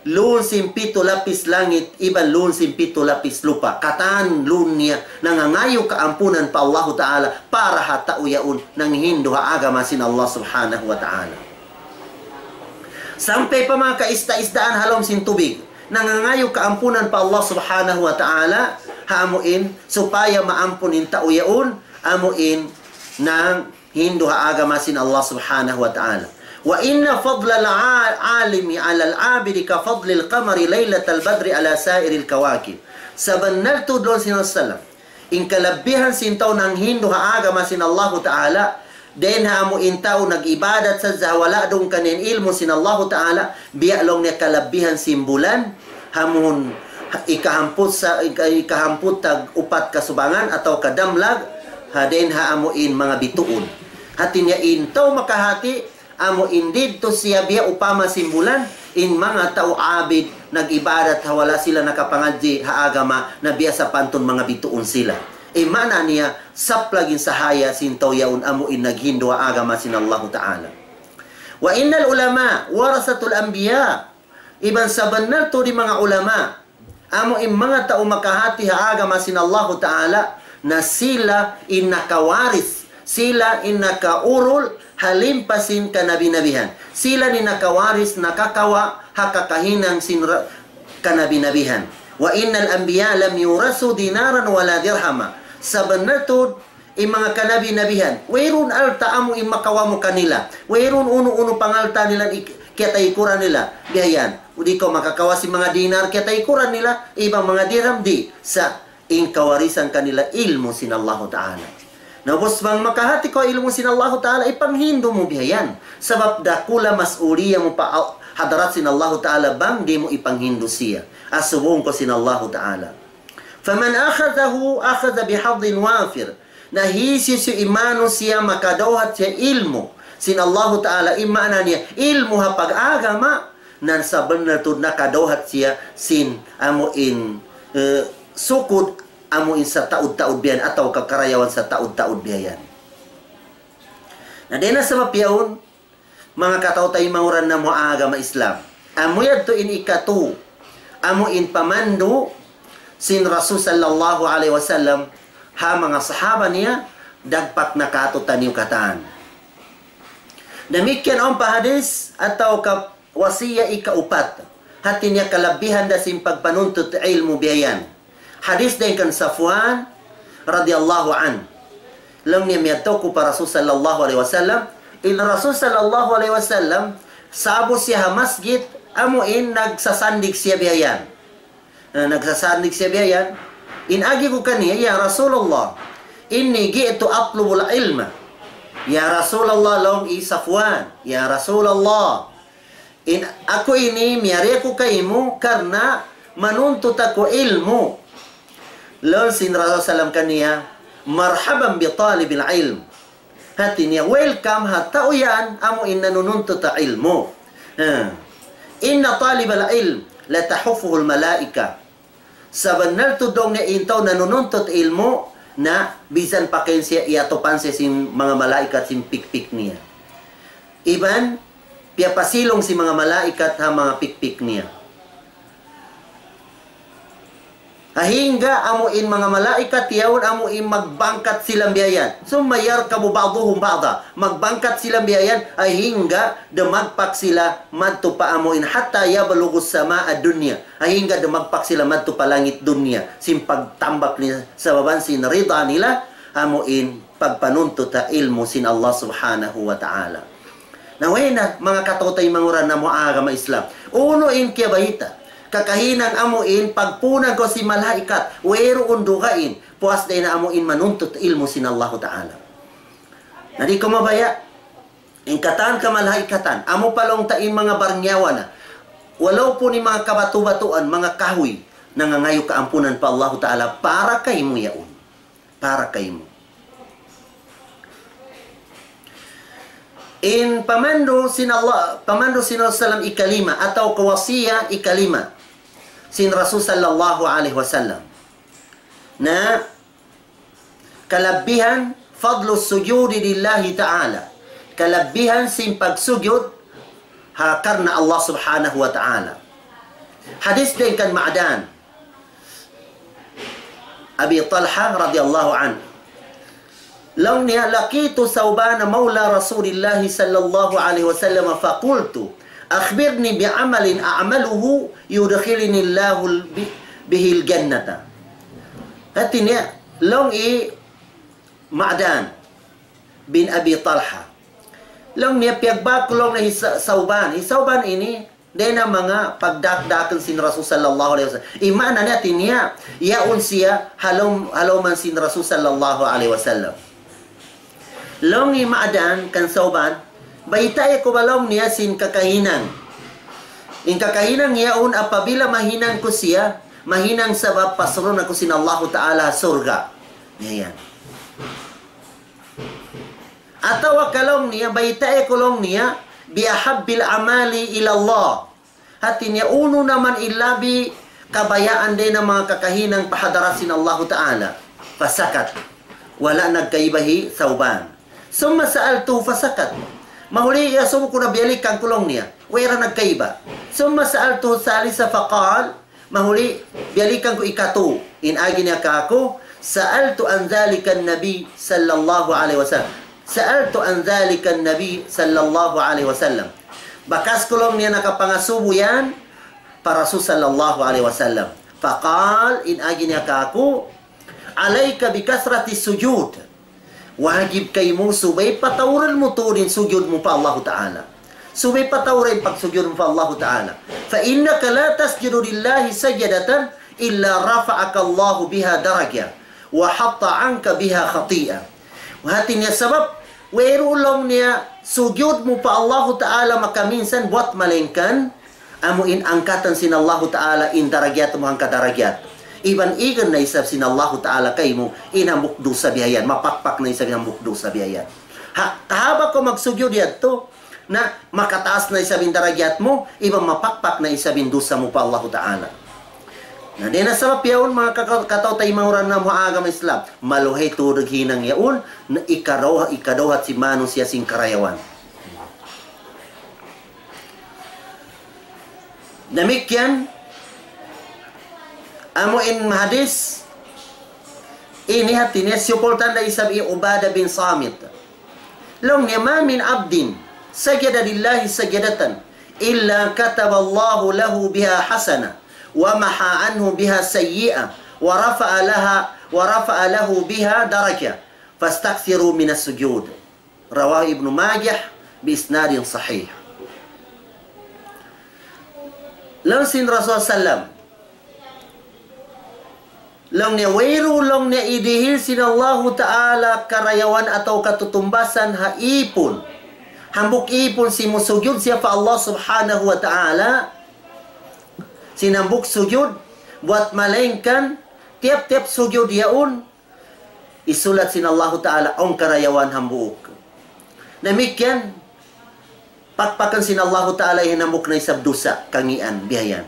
lawm sin pitu lapis langit, iban lawm sin pitu lapis lupa'. Katan laung niya nangangayu' kaampunan pa Allahu Ta'ala, para ha tau yaun nanghindu' ha agama sin Allah Subhanahu wa Ta'ala. Sampay pa manga kaisda-isdaan ha lawm sin tubig, nangangayu' kaampunan pa Allah Subhanahu wa Ta'ala, ha amu in, supaya maampun in tau yaun, amu in, nanghindu' ha agama sin Allah Subhanahu wa Ta'ala. وإن فضل العالم على العابد كفضل القمر ليلة البدر على سائر الكواكب. Sabunnal tuud laung sin Rasul sallam, in kalabihan sin tau nanghindu' ha agama sin Allahu Ta'ala, dayn ha amu in tau nag-ibadat sadja ha wala' dungkan in ilmu' sin Allahu Ta'ala, biya' laung niya kalabihan sin bulan, ha amun ikahamput sa-, ika-, ikahamput tag upat kasubangan atawa kadamlag, ha dayn ha amu in manga bituun. Hati niya in tau makahati, amu in didtu siya biya' upama sin bulan, in manga tau abid, nag-ibadat ha wala' sila nakapangadji' ha agama, na biya' sapantun manga bituun sila. In maana niya, saplag in sahaya sin tau yaun amu in naghindu' ha agama sin Allahu Ta'ala. وإن العلماء ورثة الأنبياء. Iban sabunnal tuud in manga ulama, amu in manga tau makahati ha agama sin Allahu Ta'ala, na sila in nakawaris, sila in nakaurul ha limpa sin kanabi-nabihan. Sila in nakawaris, nakakawa' ha kakahinang sin ra-, kanabi-nabihan. وإن الأنبياء لم يورثوا دينارا ولا درهما. Sabunnal tuud, in manga kanabi-nabihan, wayruun alta' amu in makawa' mu kanila. Wayruun unu-unu pangalta' nila, ik-, kiyataykuran nila. Biya' yan. Di' kaw makakawa' sin manga dinar kiyataykuran nila, iban manga dirham di'. Sa' in kawarisan kanila ilmu' sin Allahu Ta'ala. Na ubus bang makahati kaw ilmu' sin Allahu Ta'ala, ipanghindu' mu biya' yan. Sabab dakula' mas'uliya mu pa al-, hadarat sin Allahu Ta'ala bang di' mu ipanghindu' siya. Asubuhun kaw sin Allahu Ta'ala. فمن أخذه أخذ بحظ وافر. Na hisiyu-siyu in manusiya' makadawhat siya ilmu' sin Allahu Ta'ala, in maana niya ilmu' ha pag-agama, na sabunnal tuud nakadawhat siya sin amu in, eh, sukud amu in sataud-taud biya' yan atawa kakarayawan sataud-taud biya' yan. Na dayn ha sabab yaun, manga kataw-taymanghuran namu' ha agama Islam. Amu yadtu in ikatu, amu in pamandu' sin Rasul sallallahu alayhi wasallam ha manga sahaba niya, dagpak na kātu'niyu katan. Damikkiyan awn pa hadis atawa ka wasiya ikaupat. Hati niya kalabihan da sin pagpanuntut ilmu' biya' yan. Hadis dayn kan Safwan radiyallahu anhu. Laung niya miyadtu aku pa Rasul sallallahu alayhi wasallam. In Rasul sallallahu alayhi wasallam, sa'bu siya ha masjid, amu in nagsasandig siya biya' yan. Na, nagsasandig siya biya' yan. In agi ku kaniya, "Ya Rasulullah, إني جئت أطلب العلم." Ya Rasulullah, laung hi Safwan, "Ya Rasulullah, in aku ini miyari aku kaymu karna' manuntut aku ilmu'." Laung sin Rasul sallam kaniya, "مرحبا بطالب العلم." Hati niya, welcome ha tau yan amu in nanununtut ha ilmu'. Ha. إن طالب العلم لتحفه الملائكة. Sabunnal tuud laung niya in tau nanununtut ilmu', na bisan pa kaymu siya iyatupan siya sin manga malaikat sin pikpik niya. Iban, piyapasilung sin manga malaikat ha manga pikpik niya. Hangga amu in manga malaikat yaun amu in magbangkat sila biya' yan. ثم يركب بعضهم بعضا. Magbangkat sila biya' yan, hangga dumagpak sila madtu pa amu in حتى يبلغوا السماء الدنيا. Hangga dumagpak sila madtu pa langit dunya. Sin pagtambak nila sabab sin rida nila, amu in pagpanuntut ha ilmu' sin Allah Subhanahu wa Ta'ala. Na way na, manga kataw-taymanghuran namu' ha agama Islam. Unu in kiyabayta'? Kakahinang amu in pagpunag kaw sin malaikat, wayruun dugaing, puas dayn ha amu in manuntut ilmu' sin Allahu Ta'ala. Na di' kaw mabaya', in katan kamalaikatan, amu pa laung ta in manga barnyawa na, walaupun in manga kabatu-batuan, manga kahuy, nangangayu' kaampunan pa Allahu Ta'ala, para kaymu yaun. Para kaymu. In pamandu' sin Allah, pamandu' sin Rasul sallam ikalima, atawa ka wasiya ikalima sin Rasul sallallahu alayhi wasallam. Na kalabihan فضل السجود لله تعالى. Kalabihan sin pagsujud ha karna' Allah Subhanahu wa Ta'ala. Hadis dayn kan Ma'dan Abi Talha radiyallahu anhu. Laung niya, لقيت ثوبان مولى رسول الله صلى الله عليه وسلم فقلت: أخبرني بعمل أعمله يدخلني الله ب-، به الجنة. Hati niya, laung hi Ma'dan bin Abi Talha. Laung niya, piyagbāk ku laung niya hi Sa-, Sauban. Hi Sauban ini, dayn ha manga pagdakdakan sin Rasul sallallahu alayhi wasallam. In maana niya, hati niya, yaun siya ha lawm-, ha lawm sin Rasul sallallahu alayhi wasallam. Laung hi Ma'dan kan Sauban, baytai aku ba laung niya sin kakahinang. In kakahinang yaun apabila mahinang ku siya, mahinang sabab pasurun aku sin Allahu Ta'ala surga'. Yan. Atawa ka laung niya, baytai aku laung niya, بأحب الأعمال إلى الله. hati niya unu na man in labi kabayaan dayn ha manga kakahinang pa hadarat sin Allahu Ta'ala. فسكت. Wala' nagkaiba hi Thawban. ثم سألته فسكت. Mahuli iyasubu ku na biyalikan ku laung niya. Way ra nagkaiba. ثم سألته الثالثة فقال, mahuli biyalikan ku ikatu. In agi niya kāku', سألت عن ذلك النبي صلى الله عليه وسلم. سألت عن ذلك النبي صلى الله عليه وسلم. Bakas ku laung niya nakapangasubu yan pa Rasul sallallahu alayhi wasallam. فقال, in agi niya kāku', عليك بكثرة السجود. Wajib kaymu subay patauran mu tuud in sujud mu pa Allahu Ta'ala. Subay patauran in pagsujud mu pa Allahu Ta'ala. فإنك لا تسجد لله سجدة إلا رفعك الله بها درجة وحط عنك بها خطيئة. Hati niya sabab, wayruun laung niya sujud mu pa Allahu Ta'ala makaminsan buwat malaingkan amu in angkatan sin Allahu Ta'ala in darajat mu hangka darajat. Iban igan na isab sin Allahu Ta'ala kaymu in hambuuk dusa biya' yan, mapakpak na isab in hambuuk dusa biya' yan. Ha, kahaba' kaw magsujud yadtu, na makataas na isab in darajat mu, iban mapakpak na isab in dusa mu pa Allahu Ta'ala. Na dayn ha sabab yaun, manga kaka-, kataw-taymanghuran namu' ha agama Islam, maluhay tuud hinang yaun, na ikaruwa, ikaruwa sin manusiya' sin karayawan. Damikkiyan, amu in hadis ini hati niya siyukultan da isab hi Ubadah bin Samit. Laung niya, ما من عبد سجد لله سجدة إلا كتب الله له بها حسنة ومحى عنه بها سيئة ورفع لها، ورفع له بها درجة، فاستكثروا من السجود. رواه ابن ماجه بإسناد صحيح. Laung sin Rasul sallam, laung niya, wayruun laung niya idihil sin Allahu Ta'ala karayawan atawa katutumbasan ha ipun. Hambuuk ipun simusujud siya pa Allah Subhanahu wa Ta'ala. Sin hambuuk sujud, buwat malaingkan, tiyap-tiyap sujud yaun, isulat sin Allahu Ta'ala awn karayawan hambuuk. Damikkiyan, pakpakan sin Allahu Ta'ala in hambuuk na isab dusa, kangian, biya' yan.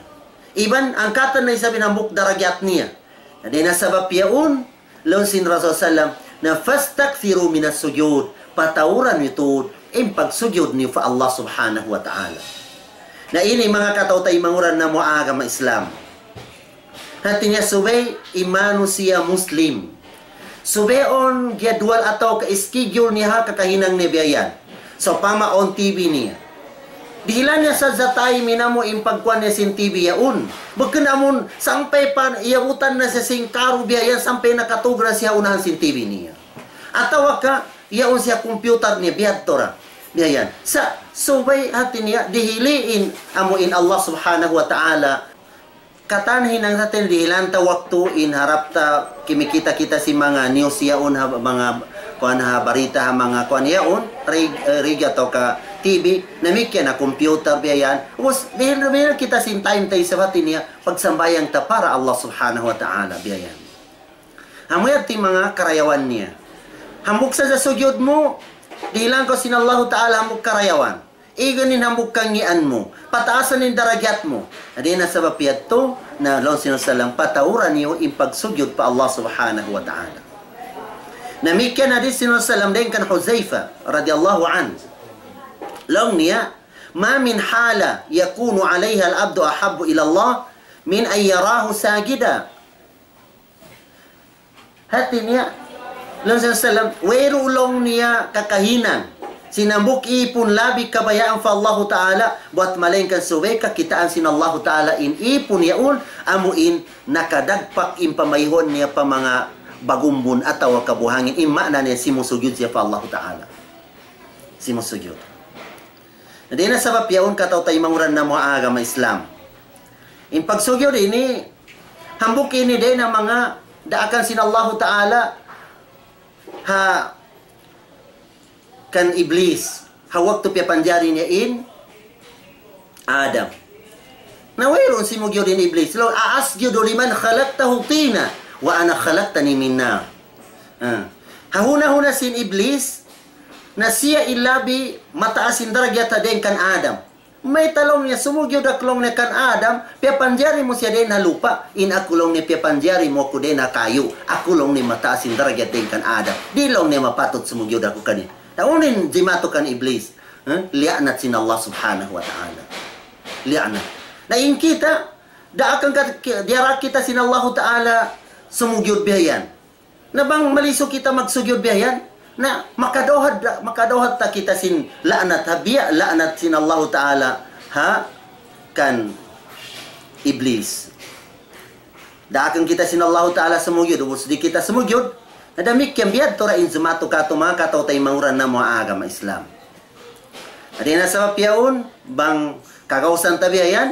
Iban angkatan na isab in hambuuk darajat niya. Na dayn ha sabab yaun, laung sin Rasul sallam, na فاستكثروا من السجود, patauran niyu tuud in pagsujud niyu pa Allah Subhanahu wa Ta'ala. Na ini manga kataw-taymanghuran namu' ha agama Islam. Hati niya subay in manusiya' Muslim, subay awn jadwal atawa ka schedule niya ha kakahinang niya biya' yan. Sawpama awn T V niya. Dihilan niya sadja time in amu in pagkuwan niya sin T V yaun. Bukun amun sampay pa iyabutan na siya sin karu biya' yan sampay nakatug na siya ha unahan sin T V niya. Atawa ka, yaun siya computer niya, biyadtu ra. Biya' yan. Sa' subay hati niya, dihili in amu in Allah Subhanahu wa Ta'ala. Katan hinang sa tin dihilan ta waktu in harap ta kimikita-kita sin manga news yaun ha manga kuwan ha barita ha manga kuwan yaun, rig-, eh, radyo atawa ka T V, damikkiyan na computer biya' yan. Ubus, dihil, dihil kita sin time ta isab hati niya, pagsambahayang ta para Allah Subhanahu wa Ta'ala biya' yan. Amu yadtu in manga karayawan niya. Hambuuk sadja sujud mu, dihilan kaw sin Allahu Ta'ala hambuuk karayawan. Igan in hambuuk kangian mu. Pataasan in darajat mu. Hati niya sabab yadtu, na laung sin Rasul sallam, patauran niyu in pagsujud pa Allah Subhanahu wa Ta'ala. Damikkiyan hadis sin Rasul sallam dayn kan Huzaifa radiyallahu anhu. Laung niya, ما من حالة يكون عليها العبد أحب إلى الله من أن يراه ساجدا. Hati niya, laung sin Rasul sallam, wayruun laung niya kakahinang sin hambuuk ipun labi kabayaan pa Allahu Ta'ala, buwat malaingkan subay kakitaan sin Allahu Ta'ala in ipun yaun, amu in nakadagpak in pamayhuan niya pa manga bagumbun atawa kabuhangin, in maana niya simusujud siya pa Allahu Ta'ala. Simusujud. Na dayn ha sabab yaun kataw-taymanghuran namu' ha agama Islam. In pagsujud ini, hambuuk ini dayn ha manga daakan sin Allahu Ta'ala ha kan Iblis. Ha waktu piyapanjari niya in Adam. Na wayruun simujud in Iblis. Laung, أأسجد لمن خلقته طينا وأنا خلقتني من نار. Ah. Ha huna-huna sin Iblis, na siya in labi mataas in darajat dayn kan Adam. Mayta' laung niya sumugyud aku laung niya kan Adam, piyapanjari mu siya dayn ha lupa', in aku laung niya piyapanjari mu aku dayn ha kayu, aku laung niya mataas in darajat dayn kan Adam, di' laung niya mapatut sumugyud aku kaniya. Na unu in jimatu kan Iblis? Huh? Liyaanat sin Allah Subhanahu wa Ta'ala. Liyaanat. Na in kita, daakan ka, diyara kita sin Allahu Ta'ala sumugyud biya' yan. Na bang malisu kita magsugyud biya' yan, na makadawhat, makadawhat ta kita sin la'nat, ha biya' la'nat sin Allahu Ta'ala ha kan Iblis. Daakan kita sin Allahu Ta'ala sumugyud, ubus di' kita sumugyud. Na damikkiyan biya' tuud in jimatu katu' manga kataw-taymanghuran namu' ha agama Islam. Hati niya sabab yaun, bang kagausan ta biya' yan,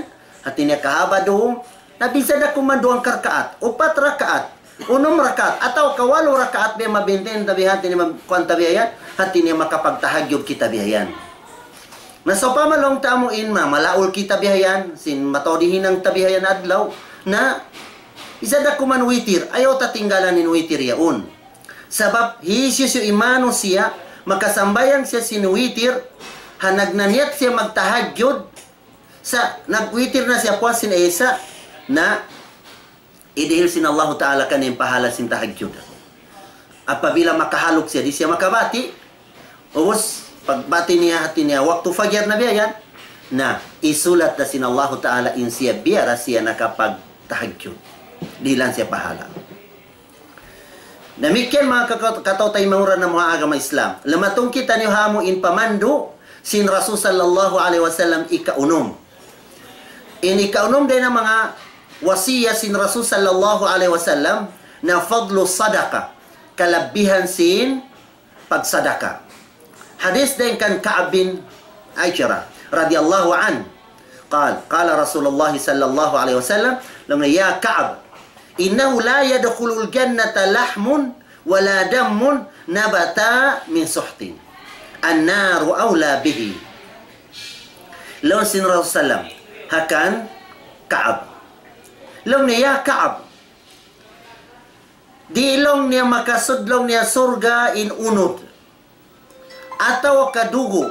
hati niya kahaba' duun, na bisan da kuman duwang karkaat, upat rakaat, unum rakaat, atawa ka walu rakaat biya' mabintin ta biya' hati niya ma-, kuwan ta biya' yan, hati niya makapagtahajjud kita biya' yan. Na sawpama laung ta amu in ma-, malaul kita biya' yan, sin mataud in hinang ta biya' yan adlaw, na bisan da kuman witir, ayaw ta tinggalan in witir yaun. Sabab hisiyu-siyu in manusiya', makasambahayang siya sin witir, ha nagnaniyat siya magtahajjud, sa' nagwitir na siya puas sin Isa, na idihil sin Allahu Ta'ala kaniya in pahala sin tahajjud. Apabila makahaluk siya, di' siya makabati', ubus, pagbati' niya hati niya, waktu fajar na biya' yan, na isulat na sin Allahu Ta'ala in siya biya' da siya nakapagtahajjud. Dihilan siya pahala. Damikkiyan manga kaka-, kataw-taymanghuran namu' ha agama Islam. Lamatung kitaniyu ha amu in pamandu' sin Rasul sallallahu alayhi wasallam ikaunum. In ikaunum dayn ha manga wasiyat sin Rasul sallallahu alayhi wasallam na fadlu sadaqa, kalabbihan sin pagsadaka. Hadis dayn kan Ka'ab bin Ujrah radiyallahu anhu. قال، قال رسول الله صلى الله عليه وسلم, laung niya, يا كعب، إنه لا يدخل الجنة لحم ولا دم نبت من سحت. النار أولى به. Laung sin Rasul sallam ha kan Ka'ab. Laung niya, "Ya Ka'ab, di' laung niya makasud laung niya surga' in unud, atawa ka dugu',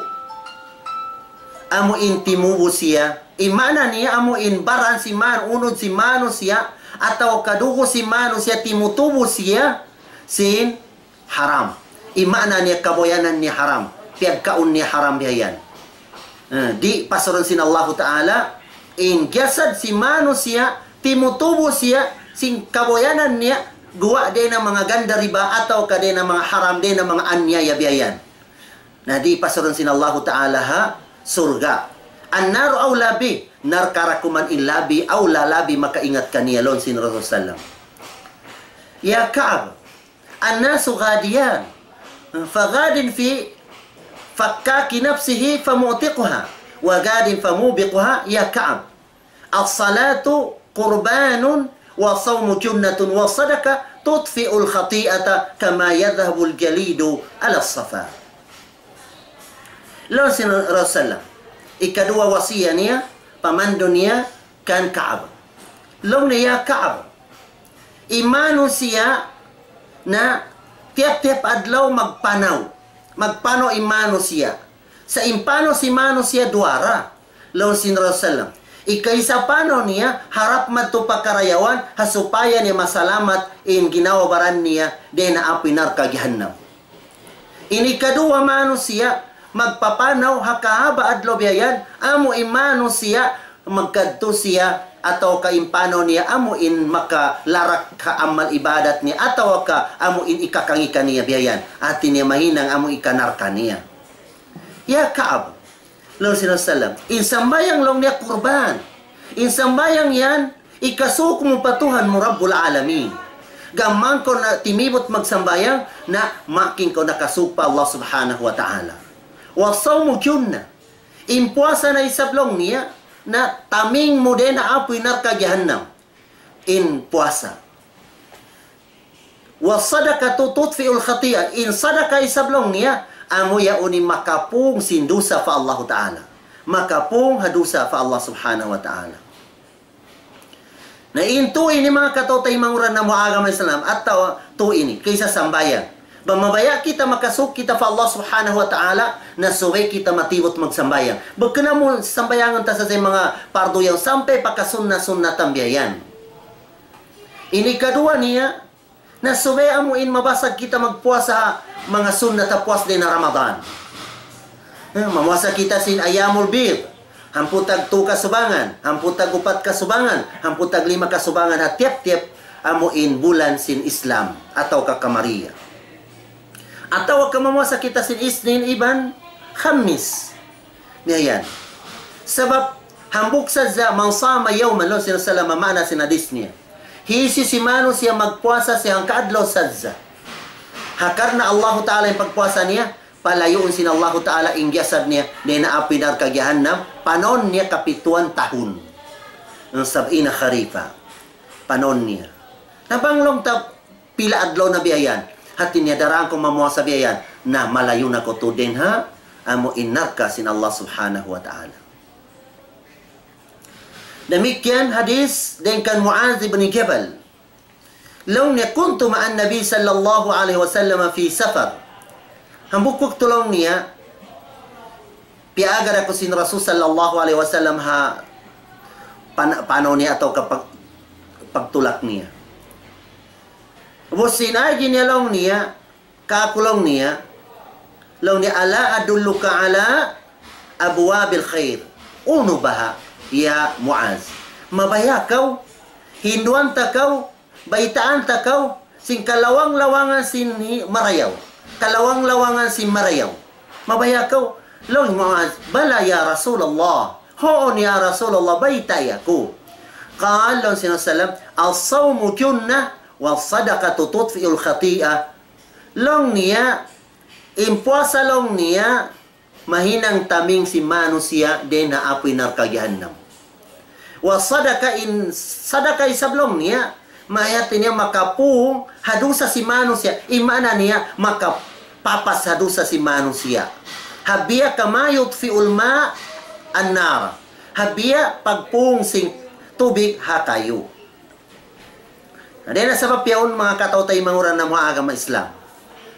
amu in timubu siya." In maana niya amu in baran sin man-, unud sin manusiya', atawa ka dugu' sin manusiya' timutubu siya sin haram. In maana niya kabuyanan niya haram. Piyagkaun niya haram biya' yan. Eh, di' pasurun sin Allahu Ta'ala, in jasad sin manusiya', timutubu siya, sin kabuyanan niya, guwa' dayn ha manga ganda riba, atawa ka dayn ha manga haram, dayn ha manga aniyaya biya' yan. Na di' pasurun sin Allahu Ta'ala ha surga'. النار أولى به, narka ra kuman in labi awla, labi makaingat kaniya, laung sin Rasul sallam. يا كعب، الناس غاديان، فغاد في فكاك نفسه فمعتقها، وغاد فموبقها. يا كعب، الصلاة قربان والصوم جنة والصدقة تطفئ الخطيئة كما يذهب الجليد على الصفا. Laung sin Rasul sallam, ikaduwa wasiyat niya, pamandu' niya kan Ka'ab. Laung niya, "Ya Ka'ab, in manusiya' na tiyap-tiyap adlaw magpanaw. Magpanaw in manusiya'. Sa' in panaw sin manusiya' duwa ra." Laung sin Rasul sallam, ikaisa panaw niya, harap madtu pa karayawan, ha supaya niya masalamat in ginhawa-baran niya dayn ha api narka' jahannam. In ikaduwa manusiya', magpapanaw ha kahaba' adlaw biya' yan, amu in manusiya', magkadtu siya, atawa ka in panaw niya, amu in makalarak ha amal ibadat niya, atawa ka amu in ikakangi' kaniya biya' yan. Hati niya mahinang amu ikanarka' niya. "Ya Ka'ab," laung sin Rasul sallam, "in sambahayang," laung niya, "kurban. In sambahayang yan, ikasuuk mu pa Tuhan mu Rabbul Alamin. Gām kaw na timibut magsambahayang, na makin kaw nakasuuk pa Allah Subhanahu wa Ta'ala. والصوم جنة. In puasa na isab," laung niya, "na taming mu dayn ha api narka' jahannam." In puasa. "والصدقة تطفئ الخطيئة. In sadaka isab," laung niya, "amu yaun in makapung sin dusa pa Allahu Ta'ala." Makapung ha dusa pa Allah Subhanahu wa Ta'ala. Na in tū ini manga kataw-taymanghuran namu' ha agama Islam, atawa tū ini, kaysa sambahayang. Bang mabaya' kita makasūd kita pa Allah Subhanahu wa Ta'ala, na subay kita matibut magsambahayang. Bukun amu sambahayangan ta sadja manga pardu yan sampay pa kasunna-sunnatan biya' yan. Ini kaduwa niya, na subay amu in mabasag kita magpuasa manga sunnat ha puas dayn ha Ramadan. Eh, mamuasa kita sin ayyamul bid. Hangpu' tag tū kasubangan, hangpu' tag upat kasubangan, hangpu' tag lima kasubangan ha tiyap-tiyap amu in bulan sin Islam atawa ka Qamariya. Atawa ka mamuasa kita sin Isnin iban Khamis. Biya' yan. Sabab hambuuk sadja, man sama yawman, laung sin Rasulullah, maana sin hadis niya. Hisiyu-siyu manusiya' magpuasa siya hangka adlaw sadja. Ha karna' Allahu Ta'ala in pagpuasa niya, palayuun sin Allahu Ta'ala in jasad niya dayn ha api narka' jahannam, panahun niya kapituan tahun. Sab'ina kharifa. Panahun niya. Na bang laung ta pila adlaw na biya' yan. Hati niya daran ku mamuasa biya' yan. Na malayu' na kaw tuud dayn ha amu in narka' sin Allah Subhanahu wa Ta'ala. Damikkiyan hadis dayn kan Mu'adh ibn Jabal. Laung niya, كنت مع النبي صلى الله عليه وسلم في سفر. Hambuuk waktu laung niya, piyaagad aku sin Rasul sallallahu alayhi wasallam ha pan-, panaw niya atawa ka pag-, pagtulak niya. Ubus sin agi niya laung niya, kāku' laung niya, laung niya, ألا أدلك على أبواب الخير؟ Unu baha', ya Muaz? Mabaya' kaw, hinduan ta kaw, baytaan ta kaw, sin kalawang-lawangan sin hi-, marayaw. Kalawang-lawangan sin marayaw. Mabaya' kaw? Laung hi Muaz, بلى يا رسول الله. Huun ya Rasulullah, baytai aku. قال, laung sin Rasul sallam, الصوم جنة والصدقة تطفئ الخطيئة. Laung niya, in puasa laung niya, mahinang taming sin manusiya' dayn ha api narka' jahannam. Wa sadaka, in sadaka isab laung niya, mayta' niya makapung ha dusa sin manusiya', in maana niya makapapas ha dusa sin manusiya'. Ha biya' كما يطفئ الماء النار. Ha biya' pagpung sin tubig ha kayu. Na dayn ha sabab yaun manga kataw-taymanghuran namu' ha agama Islam.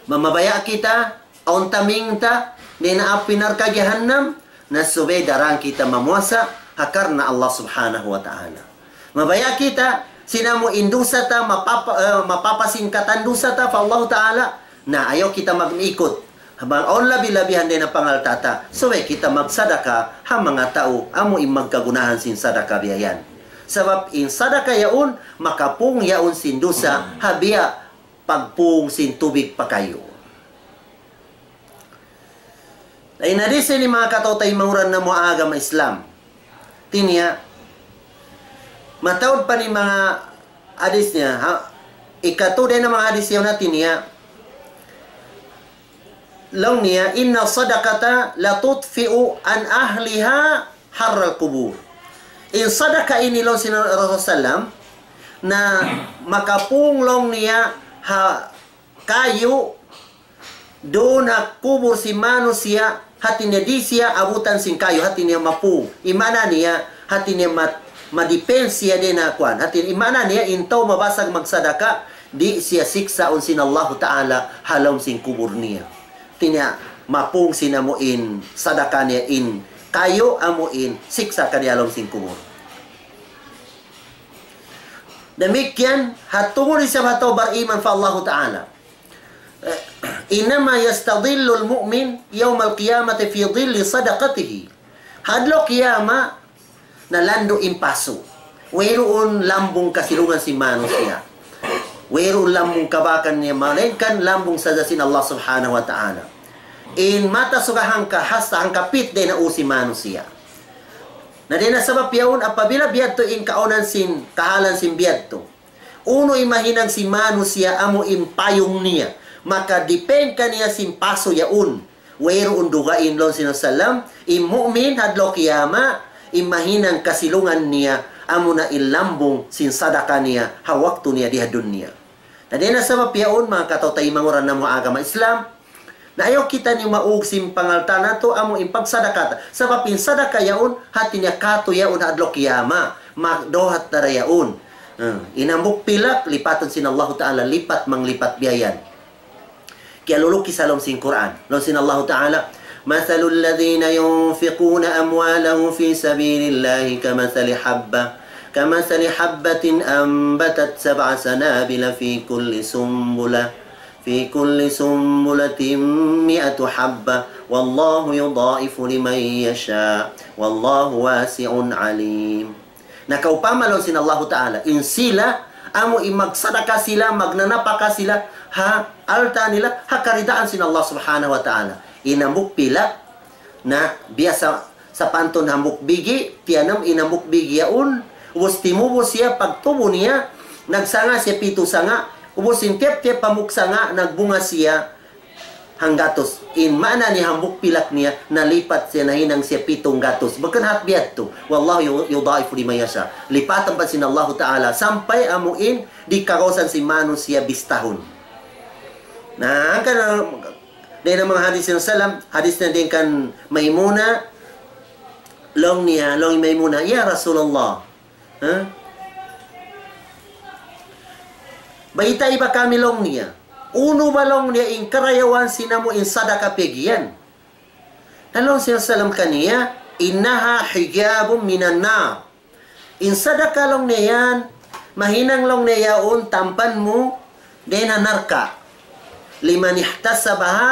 Mamabaya' kita, awn taming ta, dayn ha api narka' jahannam, na subay daran kita mamuasa, ha karna' Allah Subhanahu wa Ta'ala. Mabaya' kita, sin amu in dusa ta, mapapa-, eh, mapapas in katan dusa ta, pa Allah Ta'ala, na ayaw kita mag-ikut. Bang awn labi-labihan dayn ha pangalta' ta, subay kita magsadaka ha manga tau, amu in magkagunahan sin sadaka biya' yan. Sabab in sadaka yaun, makapung yaun sin dusa, ha biya' pagpung sin tubig pa kayu. Na in hadis ini manga kataw-taymanghuran namu' ha agama Islam. Hati niya, mataud pa in manga hadis niya, ha, ikatu dayn ha manga hadis yaun hati niya, laung niya, إن الصدقة لتطفئ عن أهلها حر القبور. In sadaka ini laung sin Rasul sallam, na makapung laung niya ha kayu, duun ha kubul sin manusiya', hati niya di' siya abutan sin kayu, hati niya mapung. In maana niya, hati niya ma-, ma-defense siya dayn ha kuwan. Hati, in maana niya, in tau mabasag magsadaka, di' siya siksaun sin Allahu Ta'ala ha lawm sin kubul niya. Hati niya, mapung sin amu in sadaka niya in kayu, amu in siksa' kaniya ha lawm sin kubul. Damikkiyan, ha tungud isab ha tau bariman pa Allahu Ta'ala. إنما يستظل المؤمن يوم القيامة في ظل صدقته. Ha adlaw kiyamat, na landu' in pasu'. Wayruun lambung kasilungan sin manusiya'. Wayruun lambung kabakan niya, malaingkan lambung sadja sin Allah Subhanahu wa Ta'ala. In mata suga hangka hasta hangka pit dayn ha ū sin manusiya'. Na dayn ha sabab yaun apabila biyadtu in kaawnan sin, kahalan sin biyadtu. Unu in mahinang sin manusiya' amu in payung niya. Makadipin kaniya sin pasu' yaun. Wayruun dugaing laung sin Rasul sallam, in mu'min ha adlaw kiyamat, in mahinang kasilungan niya, amuna in lambung sin sadaka niya, ha waktu niya di ha dunya. Na dayn ha sabab yaun, manga kataw-taymanghuran namu' ha agama Islam, na ayaw kita ini maug sin pangalta' natu', amu in pagsadaka ta. Sabab in sadaka yaun, hati niya katu' yaun ha adlaw kiyamat, magduhat na da yaun. Hmm, in hambuuk pilak, lipatun sin Allahu Ta'ala, lipat manglipat biya' yan. Kiyalulukis ha lawm sin Qur'an. Laung sin Allahu Ta'ala, مثل الذين ينفقون أموالهم في سبيل الله كمثل حبة كمثل حبة أنبتت سبع سنابل في كل سنبلة في كل سنبلة مائة حبة والله يضاعف لمن يشاء والله واسع عليم. Na kaupama laung sin Allahu Ta'ala, in sila, amu in magsadaka sila, magnanapaka sila, ha alta' nila, ha karidaan sin Allah Subhanahu wa Ta'ala. In hambuuk pilak, na biya' sapantun hambuuk bigi', tiyanam in hambuuk bigi' yaun, ubus timubus siya, pagtubu niya, nagsanga siya pitu sanga, ubus in tiyap-tiyap hambuuk sanga, nagbunga siya, hanggatus. In maana niya hambuuk pilak niya, nalipat siya, nahinang siya pitung gatus. Bukun hat biya' yadtu. والله يضاعف لمن يشاء. Lipatan pa sin Allahu Ta'ala. Sampay amu in di' kagausan sin manusiya' bistahun. Na, hangkan, dayn ha manga hadis sin Rasulullah, hadis na dayn kan Maymuna, laung niya, laung Maymuna, "Ya Rasulullah, ha? Baytai ba kami," laung niya. "Unu ba," laung niya, "in karayawan sin amu in sadaka piyag'iyan?" Na laung sin Rasulullah kaniya, "إنها حجاب من النار." In sadaka laung niya yan, mahinang laung niya yaun tampan mu dayn ha narka'. لمن احتسبها,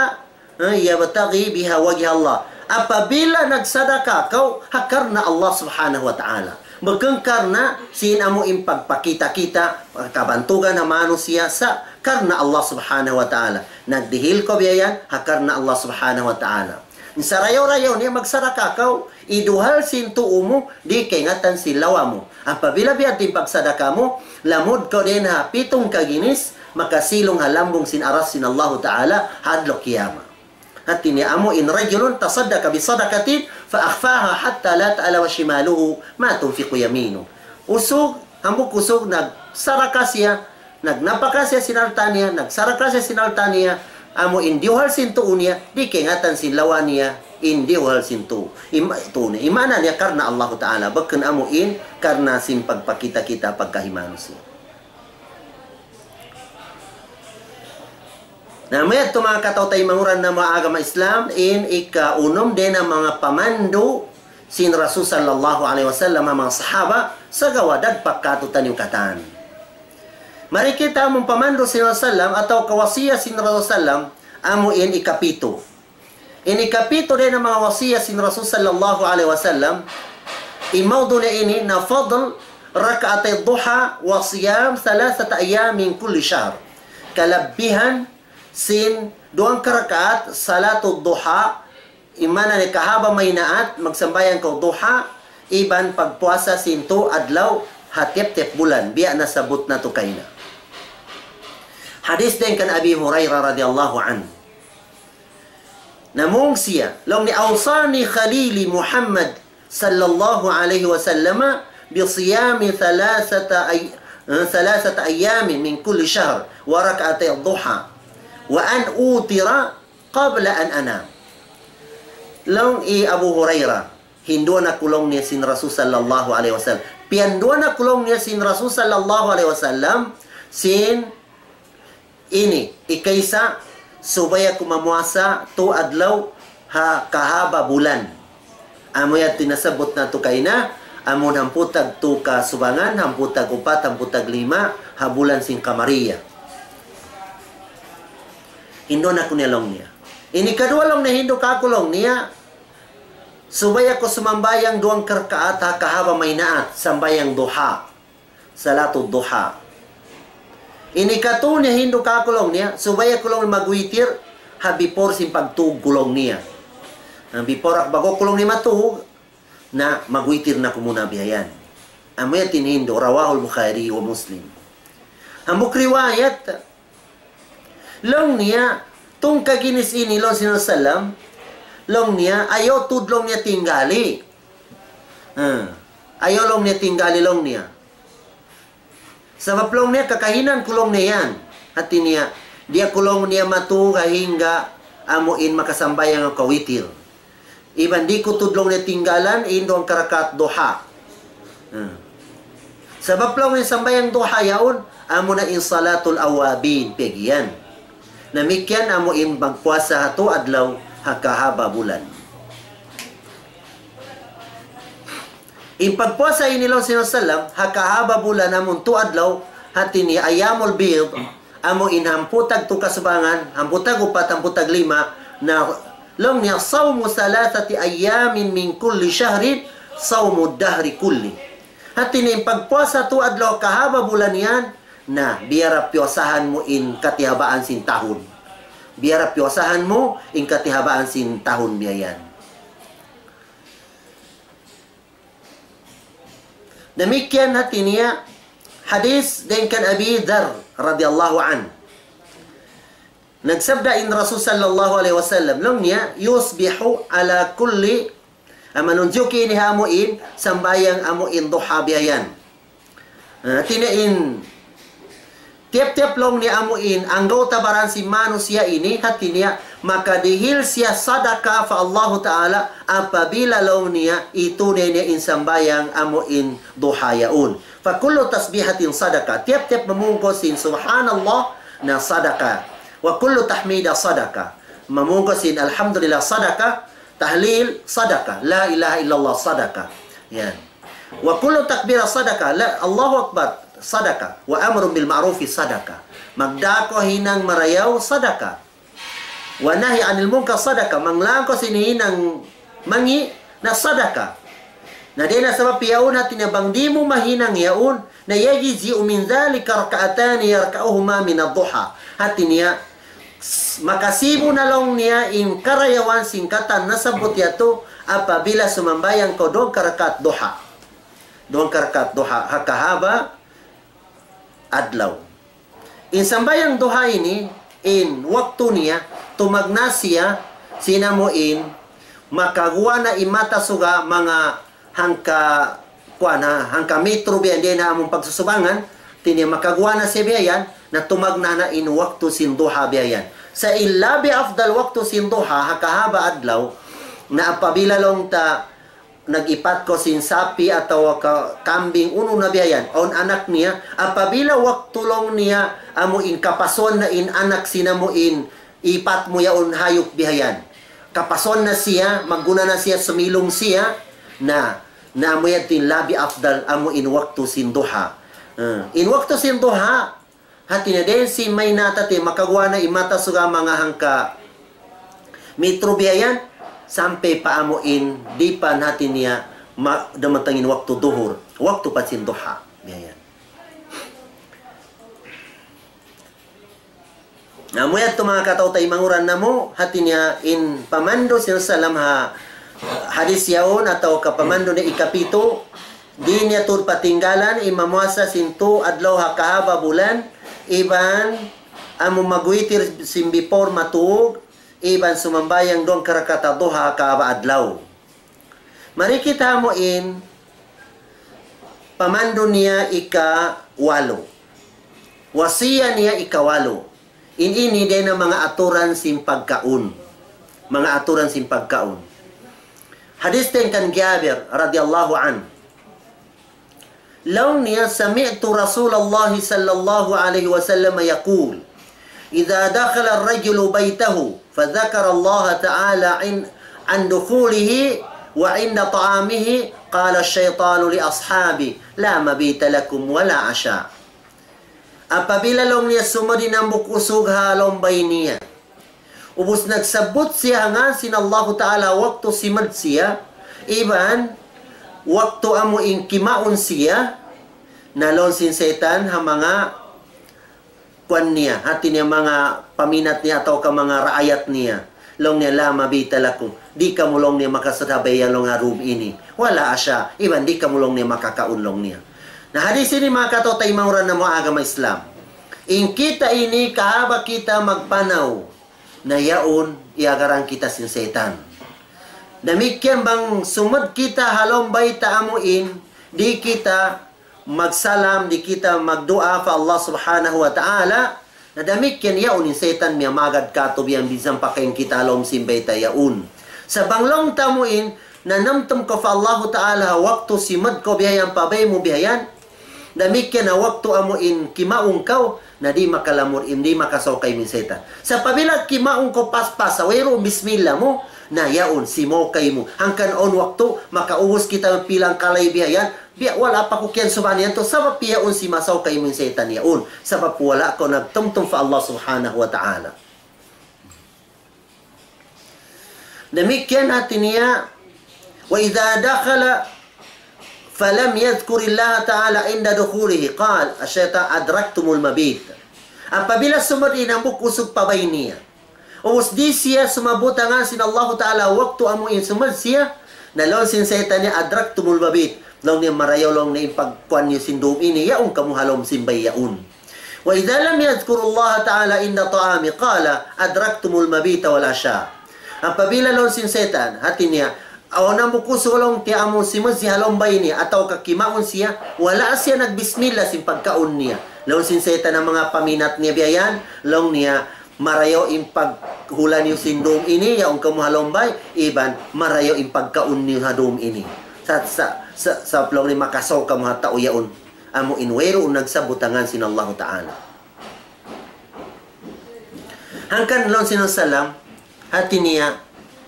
eh, يبتغي بها وجه الله. Apabila nagsadaka kaw ha karna' Allah Subhanahu wa Ta'ala. Bukun karna' sin amu in pagpakita'-kita', kabantugan ha manusiya', sa' karna' Allah Subhanahu wa Ta'ala. Nagdihil kaw biya' yan, ha karna' Allah Subhanahu wa Ta'ala. Sarayaw-rayaw niya magsadaka kaw, iduhal sin tuu mu, di' kaingatan sin lawa mu. Apabila biya' diin pagsadaka mu, lamud kaw dayn ha pitung kaginis, makasilung ha lambung sin aras sin Allahu Ta'ala, ha adlaw kiyamat. Hati niya amu in رجل تصدق بصدقة فأخفاها حتى لا تعلم شماله ما تنفق يمينه. Usug, hambuuk usug nagsadaka siya, nagnapaka siya sin alta' niya, nagsadaka siya sin alta' niya, amu in diyuhal sin tuu niya, di' kaingatan sin lawa niya, in diyuhal sin tuu. Im-, tuu niya. In maana niya karna' Allahu Ta'ala, bukun amu in karna' sin pagpakita'-kita' pagkahi manusiya'. Na, mayta' manga kataw-taymanghuran namu' ha agama Islam, in ikaunum dayn ha manga pamandu' sin Rasul sallallahu alayhi wasallam, manga sahaba, sagawa' dagpak kātu'niyu katan. Mari kita amu in pamandu' sin Rasul sallam atawa wasiyat sin Rasul sallam, amu in ikapitu. In ikapitu dayn ha manga wasiyat sin Rasul sallallahu alayhi wasallam, in mawdu' niya ini na فضل ركعتي الضحى وصيام ثلاثة أيام من كل شهر. Kalabbihan sin duwang karakaat salatul duha, in maana niya kahaba' mahinaat, magsambahayang kaw duha, iban pagpuasa sin tū adlaw ha tiyap-tiyap bulan, biya' nasabbut natu' kaina. Hadis dayn kan Abi Hurairah radiyallahu anhu. Namung siya, laung niya, أوصاني خليلي محمد صلى الله عليه وسلم بصيام ثلاثة أي-، ثلاثة أيام من كل شهر وركعتي الضحى وأن أوتر قبل أن أنام. Laung hi Abu Hurairah, hinduan aku laung niya sin Rasul sallallahu alayhi wasallam. Piyanduan aku laung niya sin Rasul sallallahu alayhi wasallam sin ini, ikaisa, subay aku mamuasa tū adlaw ha kahaba' bulan. Amu yan in nasabbut natu' kaina, amu in hangpu' tag tū kasubangan, hangpu' tag upat, hangpu' tag lima, ha bulan sin Qamariyyah. Hinduan aku niya laung niya. Ini kaduwa laung niya hindu' kāku' laung niya, subay aku sumambahayang duwang karakaat ha kahaba' mahinaat, sambahayang duha. Salatul duha. Ini katū niya hindu' kāku' laung niya, subay aku laung magwitir, ha before sin pagtūg ku laung niya. Na before aku, ba'gu ku laung niya matūg, na magwitir na aku muna biya' yan. Amu yan in hindu', رواه البخاري ومسلم. Hambuuk riwayat, laung niya, tungka ginis ini laung sin Rasul sallam, laung niya, ayaw tuud laung niya tinggali. Ha. Ayaw laung niya tinggali laung niya. Sabab laung niya kakahinang ku laung niya yan. Hati niya, di' aku laung niya matūg hangga amu in makasambahayang aku witir. Iban di' ku tuud laung niya tinggalan in duwang karakaat duha. Hmm. Sabab laung niya sambahayang duha yaun, amu na in salatul awwabin, piyag'iyan. Damikkiyan amu in pagpuasa ha tu adlaw ha kahaba' bulan. In pagpuasa ini laung sin Rasul sallam, ha kahaba' bulan amun tu adlaw, hati niya ayyamul bid, amu in hangpu' tag tu kasubangan, hangpu' tag upat, hangpu' tag lima, na laung niya, صوم ثلاثة أيام من كل شهر صوم الدهر كله. Hati niya in pagpuasa tu adlaw kahaba' bulan yan, na biya' da piyuasahan mu in katihabaan sin tahun. Biya' da piyuasahan mu in katihabaan sin tahun biya' yan. Damikkiyan hati niya hadis dayn kan Abi Dharr radiyallahu anhu. Nagsabda in Rasul sallallahu alayhi wasallam, laung niya, يصبح على كل, ah, manunjuki ini ha amu in sambahayang amu in duha biya' yan. Ah, hati niya in tiyap-tiyap laung niya amu in anggawta' baran sin manusiya' ini, hati niya makadihil siya sadaka pa Allahu Ta'ala apabila laung niya itunay niya in sambahayang amu in duha yaun. فكل تسبيحة صدقة. Tiyap-tiyap mamungkus sin subhanallah na sadaka. وكل تحميدة صدقة. Mamungkus sin alhamdulillah sadaka. Tahlil sadaka. La ilaha illallah sadaka. Yan. وكل تكبيرة صدقة. La, Allahu Akbar sadaka. وأمر بالمعروف صدقة. Magdā kaw hinang marayaw sadaka. والنهي عن المنكر صدقة. Manglang kaw sin hinang mangi' na sadaka. Na dayn ha sabab yaun hati niya bang di' mu mahinang yaun, na يجزئ من ذلك ركعتان يركعهما من الضحى. Hati niya, s-, makasibu na laung niya in karayawan sin katan nasabbut yadtu apabila sumambahayang kaw duwang karakaat duha. Duwang karakaat duha, ha kahaba' adlaw. In sambahayang duha ini, in waktu niya, tumagna' siya, sin amu in, makaguwa' na in mata suga manga hangka, kuwan ha, hangka metro biya' yan dayn ha amun pagsusubangan, hati niya makaguwa' na siya biya' yan, na tumagna' na in waktu sin duha biya' yan. Sa' in labi afdal waktu sin duha, ha kahaba' adlaw, na apabila laung ta, nag-ipat kaw sin sapi' atawa ka kambing unu na biya' yan, awn anak niya, apabila waktu laung niya, amu in kapasuan na in anak sin amu in ipat mu yaun hayup biya' yan. Kapasuan na siya, magguna na siya, sumilung siya, na, na amu yan in labi afdal, amu in waktu sin duha. Eh, in waktu sin duha, hati niya dayn sin maynata ti makaguwa' na in mata suga manga hangka metro biya' yan, sampay pa amu in dipan hati niya ma-, dumatung in waktu duhur, waktu pa sin duha, biya' yan. Na, amu yadtu manga kataw-taymanghuran namu', hati niya in pamandu' sin Rasul sallam ha hadis yaun atawa ka pamandu' niya ikapitu, di' niya tuud patinggalan in mamuasa sin tu adlaw ha kahaba' bulan, iban amu magwitir sin before matug, iban sumambahayang duwang karakaat duha ha kahaba' adlaw. Mari kita amu in pamandu' niya ikawalu. Wasiya niya ikawalu. In ini dayn ha manga aturan sin pagkaun. Manga aturan sin pagkaun. Hadis dayn kan Jabir radiyallahu anhu. Laung niya, سمعت رسول الله صلى الله عليه وسلم يقول: إذا دخل الرجل بيته فذكر الله تعالى عن، عن دخوله وعند طعامه، قال الشيطان لأصحابه: لا مبيت لكم ولا عشاء. Apabila laung niya sumud in hambuuk usug ha lawm bay niya, ubus nagsabbut siya ha ngan sin Allahu Ta'ala waktu simud siya, iban waktu amu in kimaun siya, na laung sin saytan ha manga kuwan niya, hati niya manga paminat niya atawa ka manga raayat niya. Laung niya, لا مبيت لكم. Di' kamu laung niya makasud ha bay laung ha dum ini. ولا عشاء. Iban di' kamu laung niya makakaun laung niya. Na hadis ini manga kataw-taymanghuran namu' agama Islam. In kita ini kahaba' kita magpanaw na yaun iyagaran kita sin saytan. Damikkiyan bang sumud kita ha lawm bay ta amu in, di' kita magsalam, di' kita magduwaa pa Allah Subhanahu wa Ta'ala, na damikkiyan yaun in saytan miyamagad katu' biya' yan minsan pakain kita ha lawm sin bay ta yaun. Sa' bang laung ta amu in, nanumtum kaw pa Allahu Ta'ala ha waktu simud kaw biya' yan pa bay mu biya' yan, damikkiyan ha waktu amu in kimaun kaw, Na di' makalamud, di' makasaw kaymu in saytan. Sa' apabila kimaun kaw paspas, wayruun bismillah mu, na yaun, simaw kaymu. Hangkan awn waktu, makaubus kita pila kalay biya' yan, biya' wala' pa ku kiyansuban yan tu, sabab yaun simasaw kaymu in saytan yaun. Sabab wala' kaw nagtumtum pa Allah Subhanahu wa Ta'ala. Damikkiyan hati niya, وإذا دخل فلم يذكر الله تعالى عند دخوله قال الشيطان أدركتم المبيت. Apabila sumud in hambuuk usug pa bay niya, ubus di' siya sumabbut ha ngan sin Allahu Ta'ala waktu amu in sumud siya, na laung sin saytan niya, أدركتم المبيت. Laung niya, marayaw laung niya in pagkuan niyu sin dum ini, yaun kamu ha lawm sin bay yaun. وإذا لم يذكر الله تعالى عند طعام قال أدركتم المبيت والعشاء. Apabila laung sin saytan, hati niya, awn hambuuk usug laung niya amu simud siya ha lawm bay niya, atawa ka kimaun siya, wala' siya nagbismillah sin pagkaun niya. Laung sin saytan ha manga paminat niya biya' yan, laung niya, marayaw in paghula niyu sin dum ini, yaun kamu ha lawm bay, iban marayaw in pagkaun niyu ha dum ini. Sa, sa, sa, sa laung niya makasaw kamu ha tau yaun. Amu in wayruun nagsabbut ha ngan sin Allahu Ta'ala. Hangkan laung sin Rasulullah, hati niya,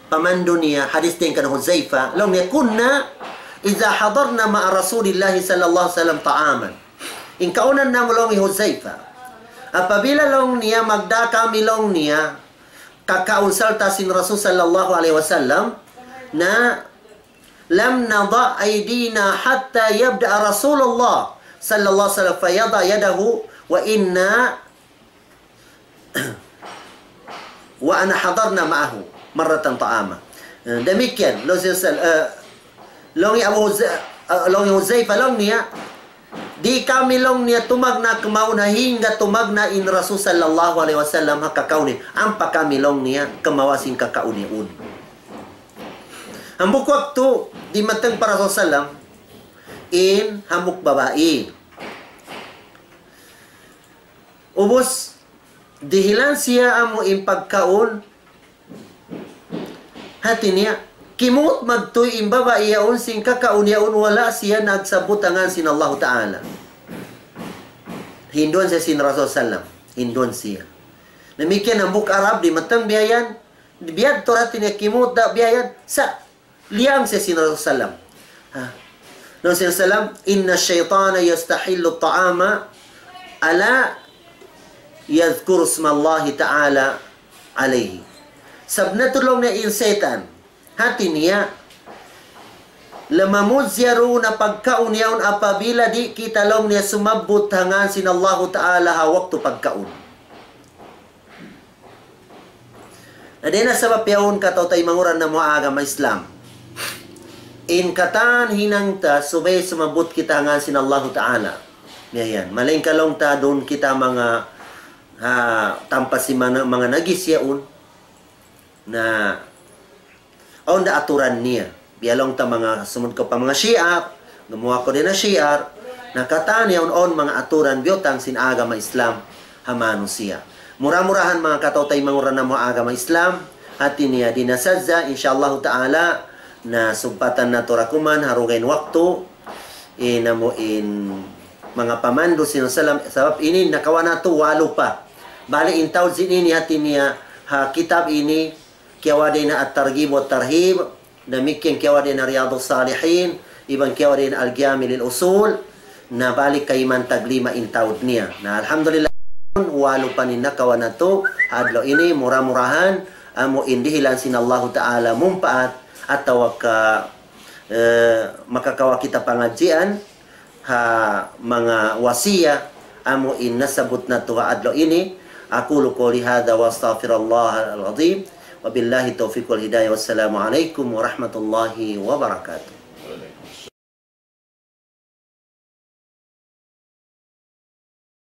pamandu' niya, hadis dayn kan Huzaifa, laung niya, كنا إذا حضرنا مع رسول الله صلى الله عليه وسلم طعاما. In kaunan namu' laung hi Huzaifa. Apabila laung niya, magdā kami laung niya, kakaun sarta' sin Rasul sallallahu alayhi wasallam, na لم نضع أيدينا حتى يبدأ رسول الله صلى الله عليه وسلم فيضع يده وإنا وأنا حضرنا معه مرة طعاما. Eh, damikkiyan, laung sin Sal-, eh, laung hi Abu Huz-, eh, laung hi Huzaifa, laung niya, di' kami laung niya tumagna' kamaun hangga tumagna' in Rasul sallallahu alayhi wasallam ha kakaun niya. Ampa kami laung niya kamawa' sin kakaun niya yaun. Hambuuk waktu, dimatung pa Rasul sallam, in hambuuk babai. Ubus, dihilan siya amu in pagkaun, hati niya, kimut magtuy in babai yaun sin kakaun yaun wala' siya nagsabbut ha ngan sin Allahu Ta'ala. Hinduan siya sin Rasul sallam. Hinduan siya. Damikkiyan hambuuk Arab dimatung biya' yan. Biya' tuud hati niya kimut da biya' yan. Sa' liyang siya sin Rasul sallam. Ha. Laung sin sallam, إن الشيطان يستحل الطعام ألا يذكر اسم الله تعالى عليه. Sabab tuud laung niya in saytan, hati niya, lamamud siya duun ha pagkaun yaun apabila di' kita laung niya sumabbut ha ngan sin Allahu Ta'ala ha waktu pagkaun. Na dayn ha sabab yaun kataw-taymanghuran namu' ha agama Islam. In katan hinang ta subay sumabbut kita ha ngan sin Allahu Ta'ala. Biya' yan. Malayngkan laung ta duun kita manga, ha, tampa sin manga, manga najis yaun. Na awn da aturan niya. Biya' laung ta manga sumud kaw pa manga shiar, gumuwa' kaw dayn ha shiar, na katan yaun awn manga aturan biyutang sin agama Islam ha manusiya'. Mura-murahan manga kataw-taymanghuran namu' ha agama Islam, hati niya di' na sadja, insya Allahu Ta'ala, na sugpatan natu' ra kuman ha dugaing waktu, in amu in manga pamandu' sin Rasul sallam, sabab ini nakawa' natu' walu pa. Bali in taud sin ini hati niya ha kitab ini, kiyawa' dayn ha At-Targhib wa Tarhib, damikkiyan kiyawa' dayn ha Riyadus Salihin, iban kiyawa' dayn ha Al-Jami' lil Usul, na bali kayman tag lima in taud niya. Na alhamdulillah, walu pa in nakawa' natu' ha adlaw ini, mura-murahan, amu in dihilan sin Allahu Ta'ala mumpaat, atawa ka, eh, makakawa' kita pangadjian, ha manga wasiya amu in nasabbut natu' ha adlaw ini. أقول قولي هذا وأستغفر الله العظيم. وبالله التوفيق والهداية. والسلام عليكم ورحمة الله وبركاته.